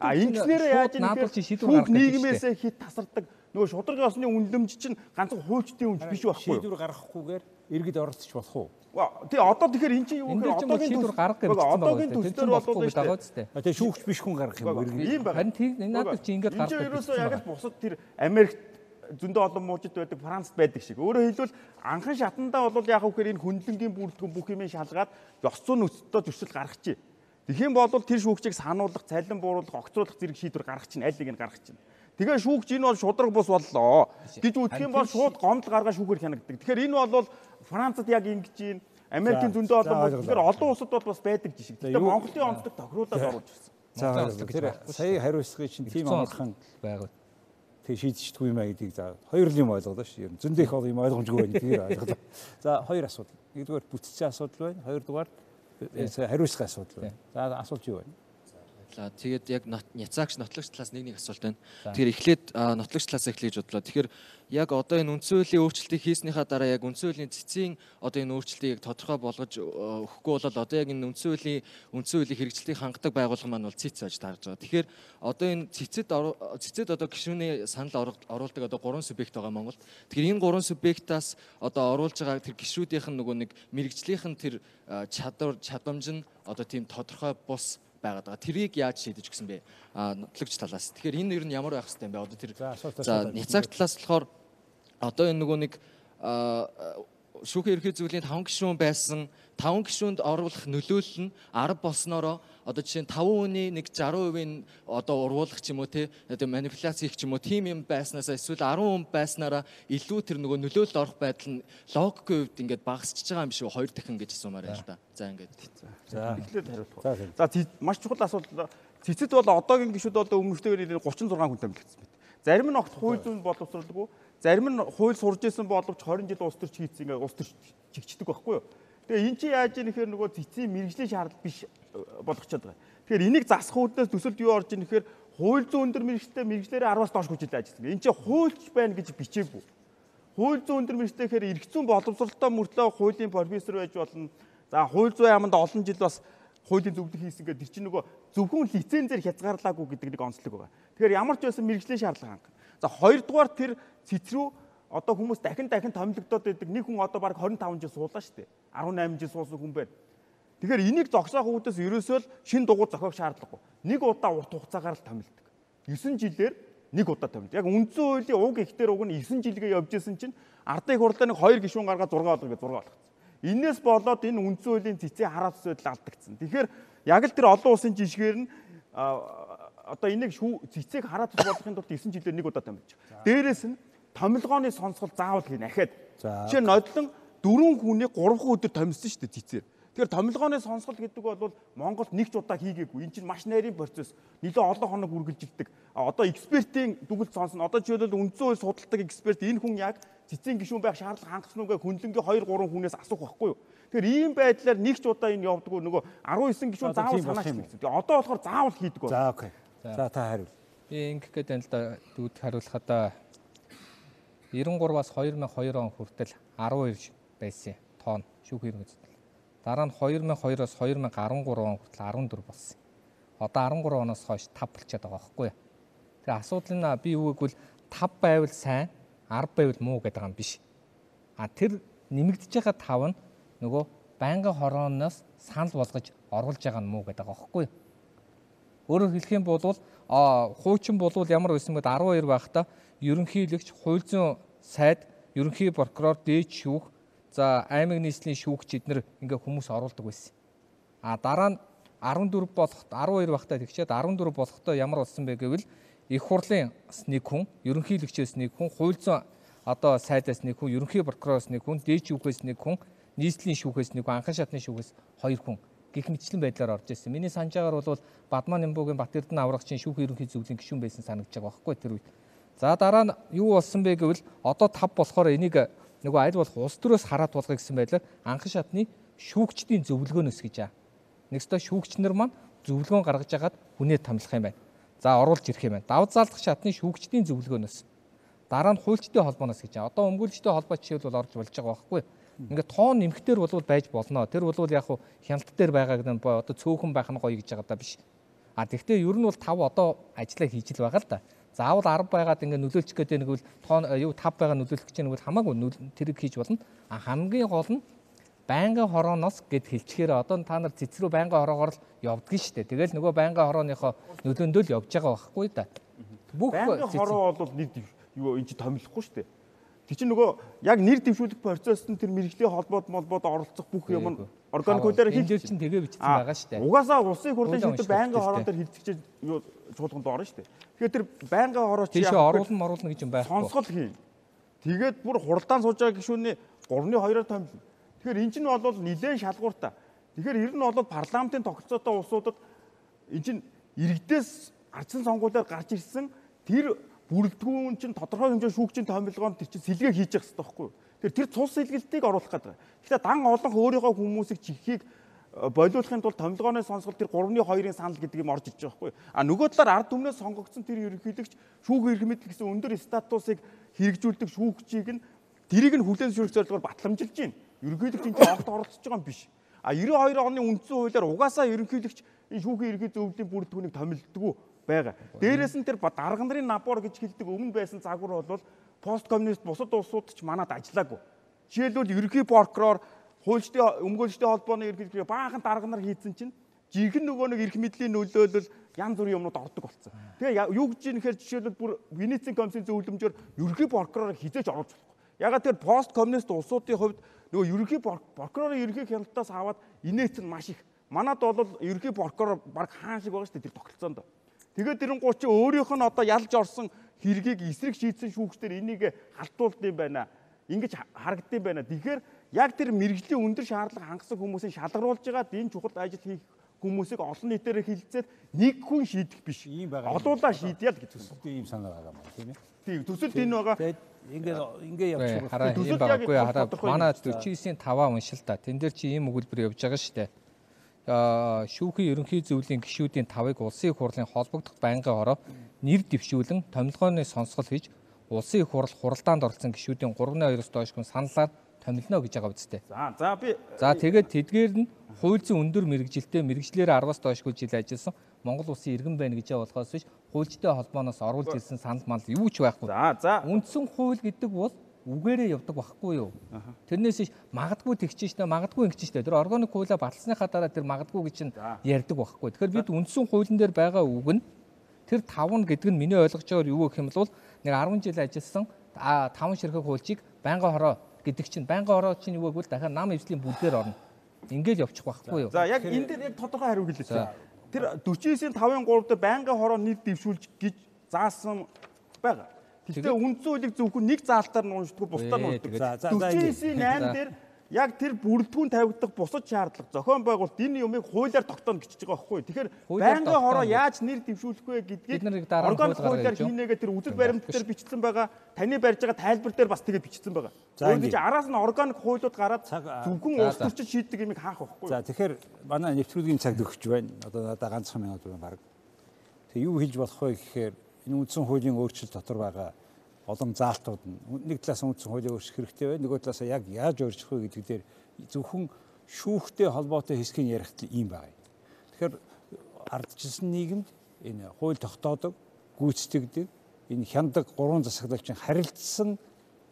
А ингэснээр яаж ийм гэхээр шүүх нийгмээсээ хит тасардаг нөгөө шударгын осны үнэлэмж чинь ганцхан хуучдын үнж биш байхгүй. Шийдвэр гаргахгүйгээр иргэд оролцож болох уу? Тий одоо тэгэхээр эн чинь юу гэхээр одоогийн шийдвэр гаргах гэж байна. Одоогийн төслөөр болоод байгаа үстэй. Тэгээ шүүгч биш хүн гаргах юм иргэд. Ийм байна. Харин тийм надад чи ингэж гаргах. Энэ ерөөсөө яг л бусад тэр Америкт зөндөө олон муужид байдаг, Францад байдаг шиг. Өөрөөр хэлбэл анхан шатандаа бол яг үхээр энэ хүндлэнгийн бүрэлдэхүүн бүх юмыг шалгаад ёс зүйн нөхцөлд зөрчил гаргачих. Тэгхийн бол тэр шүүгчийг сануулгах, цалин бууруулах, огцруулах зэрэг шийдвэр гаргах чинь аль нэг нь гаргах чинь. Тэгээ шүүгч энэ бол шудраг бус боллоо гэж үзэх юм бол шууд гомдол гаргаад шүүхээр хянагддаг. Тэгэхээр энэ бол Францад яг ингэж юм, Америкийн зөндөө олон тэгэхээр олон улсад бол бас байдаг жишг. Тэгээ Монголын онцлог тохируулаад оруулж ирсэн. За тэр сая хариуцлагын чинь тийм амархан байгаад тэг шийдчихдэггүй юм а гэдгийг за хоёр л юм ойлголоо шүү. Зөндөө их юм ойлгомжгүй байна гэдгийг ойлголоо. За хоёр асуудал. Нэгдүгээр бүтцийн асуудал байна. Хоёрдугаар хариуцлагын асуудал байна. За асуулт юу байна? За тэгээд яг няцаагч нотлогч талаас нэг нэг асуулт байна. Тэгэхээр эхлээд нотлогч талаас эхлэж бодлоо. Тэгэхээр яг одоо энэ үндсэн хуулийн өөрчлөлтийг хийснийхаа дараа яг үндсэн хуулийн цэцгийн одоо энэ өөрчлөлтийг тодорхой болгож өгөхгүй бол одоо яг энэ үндсэн хуулийн үндсэн хуулийн хэрэгжилтийг хангадаг байгууллага маань бол цэц байж таарж байгаа. Тэгэхээр одоо энэ цэцэд цэцэд одоо гишүүний санал оруулдаг одоо гурван субъект байгаа Монголд. Тэгэхээр энэ гурван субъектаас одоо оруулж байгаа тэр гишүүдийнх нь нөгөө нэг мэрэгжлийнх нь тэр чадвар чадамж нь одоо тийм тодорхой бус байгаад байгаа. Тэрийг яаж шийдэж өгсөн бэ? Аа нотлогч талаас. Тэгэхээр энэ ер нь ямар байх хэвтэй юм бэ? Одоо тэр за няцааг талаас болохоор одоо энэ нөгөө нэг шүүхийн ерхий зөвлөлийн таван гишүүн байсан таван гишүүнд оруулах нөлөөлөл нь арга болсноороо одоо жишээ нь таван хүний нэг саран хувийн одоо урвуулах ч юм уу те одоо манипуляц хийх ч юм уу тийм юм байснасаа эсвэл арван хүн байснараа илүү тэр нөгөө нөлөөлөл орох байдал нь логикийн хувьд ингээд багасчихж байгаа юм шиг хоёр дахин гэж асуумаар байна л да. За ингээд. За эхлээд хариулах. За маш чухал асуудал. Цэцэд бол одоогийн гишүүд бол өмнөхтэйгээр гучин зургаан хүн томилогдсон байна. Зарим нь огт хууль зүйн боловсруулдаг. Зарим нь хууль сурж исэн боловч хорин жил улс төрч хийцэн ингээд улс төрч чигчдэг байхгүй юу? Тэгээ эн чинь яаж ийм нэхэр нөгөө цэцгийн мэрэгжлийн шаардлага биш болгочод байгаа. Тэгэхээр энийг засах үүднээс төсөлд юу орж ийн нэхэр хууль зүйн өндөр мэрэгчтэй мэрэгчлэрээ араас доош хүчтэй ажилласан. Энд чинь хуульч байна гэж бичээгүй. Хууль зүйн өндөр мэрэгчтэй гэхээр эрх зүйн боловсролтой мөртлөө хуулийн профессор байж болно. За хууль зүйн яамд олон жил бас хуулийн зөвлөлт хийсэн гэдэг тэр чинь нөгөө зөвхөн лицензээр хязгаарлаагүй гэдэг нэг онцлог байгаа. Тэгэхээр ямар ч байсан мэрэгжлийн шаардлага хангана. За хоёрдугаар тэр цэц рүү одоо хүмүүс дахин дахин томилогдоод байдаг. Нэг хүн одоо баг хорин таван жил суулаа шүү дээ. арван найман жил суусан хүн байна. Тэгэхээр энийг зогсоох үүдээс ерөөсөө л шин дугуй зохиох шаардлагагүй. Нэг удаа урт хугацаагаар л томилдог. девять жилээр нэг удаа томилдог. Яг үндсэн хуулийн уг ихтер уг нь девять жилгээ явж исэн чинь ардын хурлаа нэг хоёр гишүүн гаргаад зураг болгоо гэж зураг болгоцсон. Инээс болоод энэ үндсэн хуулийн цэцгийн хараат зүйл алдагдсан. Тэгэхээр яг л тэр олон улсын жишгээр нь одоо энийг цэцгийг хараат болгохын тулд девять жилээр нэг удаа томилж. Дээрээс нь томилгооны сонсгол заавал хийнэ ахаад. Жишээ нь нодлон дөрвөн хүний гурван өдөр томилсон шүү дээ цэцээр. Тэгэхээр томилгооны сонсгол гэдэг бол Монголд нэг ч удаа хийгээгүй. Энэ чинь маш нарийн процесс. Нилээ олон хоног үргэлжилдэг. Одоо экспертийн дүгнэлт сонсно. Одоо жишээлбэл үндсэн хууль судалдаг эксперт энэ хүн яг цэцгийн гишүүн байх шаардлага хангасан уу гэх хүнлэнгийн хоёр гурван хүнээс асуух байхгүй юу? Тэгэхээр ийм байдлаар нэг ч удаа энэ явдаг нөгөө арван девять гишүүн заавал санаач хэлсэн. Тэгээ одоо болохоор заавал хийдэг байна. За окей. За та хариул. Би ингэх гээд байна л да дүүд хариулахад девяносто trois-аас две thousand two он хүртэл twelve байсан тонн шүүх хэрэг үздэг. Дараа нь two thousand two-оос two thousand thirteen он хүртэл fourteen болсон. Одоо thirteen оноос хойш five болчиход байгаа байхгүй юу? Тэгээ асуудал нь би юу гэвэл five байвал сайн, ten байвал муу гэдэг юм биш. А тэр нэмэгдэж байгаа five нь нөгөө байнгын хорооноос санал болгож оруулж байгаа нь муу гэдэг байгаа байхгүй юу? Өөрөөр хэлэх юм бол а хуучин болвол ямар байсан бэ? twelve байхдаа ерөнхийлөгч, хууль зүйн сайд, ерөнхий прокурор, дээд шүүх, за аймаг нийслэлийн шүүгч эднэр ингээ хүмүүс оруулдаг байсан. А дараа нь fourteen болох twelve байхдаа тэгчээд fourteen болохдоо ямар болсон бэ гэвэл их хурлын нэг хүн, ерөнхийлөгчөөс нэг хүн, хууль зүйн одоо сайдаас нэг хүн, ерөнхий прокуророос нэг хүн, дээд шүүхээс нэг хүн, нийслэлийн шүүхээс нэг хүн, анхан шатны шүүхээс хоёр хүн гэх мэтчлэн байдлаар орж ирсэн. Миний санджаагаар бол Бадмаа Нямбугийн Бат Эрдэнэ аврагчийн шүүх ерөнхий зөвлөлийн гишүүн байсан санагдаж байгаа байхгүй тэр үед. За дараа нь юу болсон бэ гэвэл одоо тав болохоор энийг нөгөө аль болох улс төрөөс хараад тулгая гэсэн байдлаар анхан шатны шүүгчдийн зөвлөгөөнөөс гэж аа. Нэгсдөө шүүгч нар маань зөвлөгөөн гаргаж агаад хүнээ томилох юм байна. За оруулж ирэх юм байна. Давд заалдах шатны шүүгчдийн зөвлөгөөнөөс. Дараа нь хуульчдын холбооноос гэж аа. Одоо өмгөөлөгчдийн холбоо жишээлбэл орж болж байгаа байхгүй. Ингээд тоон нэмэхтэр бол байж болно. Тэр бол яг хуу хяналт дээр байгаа гэдэг нь одоо цөөхөн байх нь гоё гэж байгаа даа биш. А тэгвэл ер нь бол тав одоо ажиллаа хийж л байгаа л да. Заавал арав байгаад ингээд нөлөөлчих гэдэг нэг бол тоон юу тав байгаа нөлөөлөх гэж нэг бол хамаагүй тэрийг хийж болно. А хамгийн гол нь байнгын хорооноос гэд хэлчихээр одоо та нар цэцрүү байнгын хороогоор л явдгийн шүү дээ. Тэгэл нөгөө байнгын хорооныхоо нөлөөндөө л явж байгаа байхгүй да. Бүх байнгын хороо бол нэг юу энэ чи томилохгүй шүү дээ. Тэг чи нөгөө яг нэр дэвшүүлэх процесс нь тэр мэрэгжлийн холбоод молбоод оролцох бүх юм нь органик хуулиар хэлж чинь тэгээ бичсэн байгаа шүү дээ. Угаасаа улсын хурлын шийдвэр байнгын хороон дээр хилцэж юу чуулганд орно шүү дээ. Тэгэхээр тэр байнгын хороо чи яг оруулна оруулна гэж юм байхгүй. Сонсгол хийн. Тэгээд бүр хуралдаан сууж байгаа гишүүний гурны хоёроор томилно. Тэгэхээр эн чинь бол нэлээд шалгууртай. Тэгэхээр ер нь бол парламентын тогтолцоотой улсуудад эн чинь иргэдээс ардсан сонгуулиар гарч ирсэн тэр бүрэлдэхүүн чинь тодорхой хэмжээ шүүгчийн томилгоонд тэр чинь сэлгээ хийж явах хэрэгтэй байхгүй юу? Тэр тэр цус сэлгэлтийг оруулах гэдэг. Гэхдээ дан олон өөрийнхөө хүмүүсийг чихийг болиулахын тулд томилгооны сонсгол тэр гурвны хоёрын санал гэдэг юм орж ирж байгаа байхгүй юу? А нөгөө талаар ард түмнээс сонгогдсон тэр ерөнхийлөгч шүүх эрх мэдэл гэсэн өндөр статусыг хэрэгжүүлдэг шүүгчийг нь тэрийг нь хүлээн зөвшөөрөх зорилгоор батламжилж байна. Ерөнхийлөгч энэ огт оролцож байгаа юм биш. А девяносто хоёр оны үндсэн хуулиар угаасаа ерөнхийлөгч энэ шүүхийн ерхий зөвлөлийн бүрэлдэхүүнийг томилдгоо байгаа. Дээрээс нь тэр дарга нарын набор гэж хэлдэг өмнө байсан загвар бол пост коммунист бусад улсууд ч манад ажиллаагүй. Жишээлбэл ерөнхий прокурор, хуульчдын өмгөөлөгчдийн холбооны ерөнхийлөгч баахан дарга нар хийцэн чинь жинхэнэ нөгөө нэг эрх мэдлийн нөлөөлөл янз бүрийн юмнууд ордог болсон. Тэгээ юу гэж юм нэхэр жишээлбэл бүр Венецийн комиссийн зөвлөмжөөр ерөнхий прокурорыг хизээж оруулж болохгүй. Ягаад тэр пост коммунист улсуудын хувьд нөгөө ерөнхий прокурорын ерөнхий хяналтаас аваад инээц нь маш их. Манад бол ерөнхий прокурор баг хаан шиг байгаа шүү дээ тэр тогтолцоонд. Тэгээд тэрэн гоо чи өөрийнх нь одоо ялж орсон хэргийг эсрэг шийдсэн шүүгчдэр энийг халтуулд юм байна. Ингэж харагдсан юм байна. Тэгэхээр яг тэр мэрэгжлийн өндөр шаардлага хангасан хүмүүсийн шалгаруулж байгаа энэ чухал ажил хийх хүмүүсийг олон нийтээр хилцээд нэг хүн шийдэх биш. Ийм байгаа. Олуулаа шийдъя л гэж төсөлтөө ийм санаа байгаа юм тийм ээ. Тийм төсөлт энэ байгаа. Ингээд ингээд явчих. Хараа ийм байгаагүй хараа манай дөрвөн таваа уншил та. Тэн дээр чи ийм өгүүлбэр явж байгаа шүү дээ. Шүүхийн ерөнхий зөвлөлийн гишүүдийн тавыг улсын их хурлын холбогдох байнгын хороо нэр дэвшүүлэн томилгооны сонсгол хийж улсын их хурл хуралдаанд оролцсон гишүүдийн гурван хоёроос доош хүн саналаар томилно гэж байгаа үстэй. За за би За тэгээд тэдгээр нь хууль зүйн өндөр мэрэгжилтэй мэрэгчлэр араваас доошгүй жил ажилласан Монгол улсын иргэн байна гэж болохоос биш хуульчтай холбооноос оруулж ирсэн санал мал юу ч байхгүй. За за үндсэн хууль гэдэг бол үгээрээ явдаг байхгүй юу? Тэрнээс магадгүй тэгчих штэ магадгүй ингэчих штэ. Тэр органик хуулиа баталсныхаа дараа тэр магадгүй гэж чинь ярьдаг байхгүй. Тэгэхээр бид үндсэн хуулийн дээр байгаа үг нь тэр таван гэдэг нь миний ойлгож байгаагаар юу гэх юм бол нэг арван жил ажилласан таван ширхэг хуульчийг байнгын хороо гэдэг чинь байнгын хороо чинь юу гэвэл дахиад нам эвслийн бүлгээр орно. Ингээд явчих байхгүй юу? За яг энэ дээр яг тодорхой хариу хэлээч. Тэр дөрвөн тавын гурав дээр байнгын хороо нэр дэвшүүлж гэж заасан байгаа. Гэхдээ үндсэн хуулийг зөвхөн нэг заалтаар нь уншдаг, бусдаар нь уншдаг. дөрвөн найм дээр яг тэр бүрэлдэхүүн тавигдах бусад шаардлага зохион байгуулалт энэ юмыг хуулиар тогтооно гэж байгаа байхгүй. Тэгэхээр байнгын хороо яаж нэр дэвшүүлэх вэ гэдгийг органик хуулиар хийнэгээ тэр үзэл баримт дээр бичсэн байгаа. Таны барьж байгаа тайлбар дээр бас тэгээ бичсэн байгаа. Өөрөөр хэлбэл араас нь органик хуулиуд гараад зөвхөн улс төрчид шийддэг юмыг хаах байхгүй. За тэгэхээр манай нэвтрүүлгийн цаг төгсөж байна. Одоо надад ганцхан минут байна баг. Тэг юу хийж болох вэ гэхээр энэ үндсэн хуулийн өөрчлөлт дотор байгаа олон заалтууд нь нэг талаас үндсэн хуулийг өөрчлөх хэрэгтэй байна. Нөгөө талаас яг яаж өөрчлөх вэ гэдэг дээр зөвхөн шүүхтэй холбоотой хэсгийн ярихт ийм байна. Тэгэхээр ардчилсан нийгэмд энэ хууль тогтоодог, гүйцэтгэдэг, энэ хяндаг гурван засаглалчин харилцсан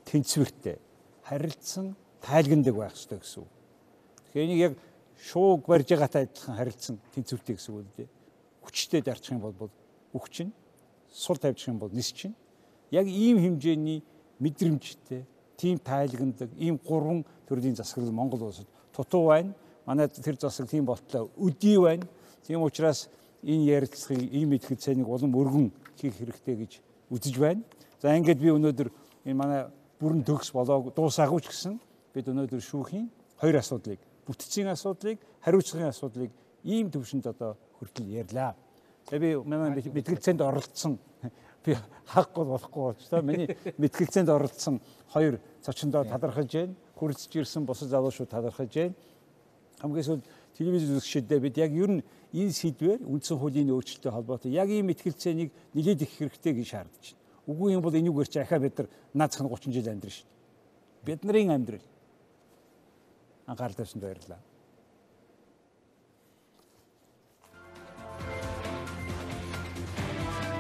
тэнцвэртэй, харилцсан тайлгандаг байх ёстой гэсэн үг. Тэгэхээр энийг яг шууг барьж байгаатай адилхан харилцсан тэнцвэртэй гэсэн үг үү? Хүчтэй дарчих юм бол үг чинь, сул тавьчих юм бол нис чинь яг ийм хэмжээний мэдрэмжтэй, тийм тайлагнадаг, ийм гурван төрлийн засаглал Монгол улсад тутуу байна. Манай тэр засаглал тийм болтлоо өдий байна. Тийм учраас энэ ярилцлагыг ийм мэдлэг цайныг улам өргөн хийх хэрэгтэй гэж үзэж байна. За ингээд би өнөөдөр энэ манай бүрэн төгс болоог дуусаагүй ч гэсэн бид өнөөдөр шүүхийн хоёр асуудлыг, бүтцийн асуудлыг, хариуцлагын асуудлыг ийм төвшөнд одоо хүртэл ярьлаа. Тэгээ би манай мэдлэг цайнд оролцсон би хахгүй болохгүй болж та миний мэтгэлцээнд оролцсон хоёр цочондоо талархаж байна. Хүрэлцэж ирсэн бусад залуучууд талархаж байна. Хамгийн сүүлд телевиз үзэгчдээ бид яг ер нь энэ сэдвээр үндсэн хуулийн өөрчлөлттэй холбоотой яг ийм мэтгэлцээнийг нэлээд их хэрэгтэй гэж шаардж байна. Үгүй юм бол энүүгээр чи ахаа бид нар наацхан гучин жил амьдрын шүү дээ. Бид нарын амьдрал анхаарал тавьсанд баярлалаа.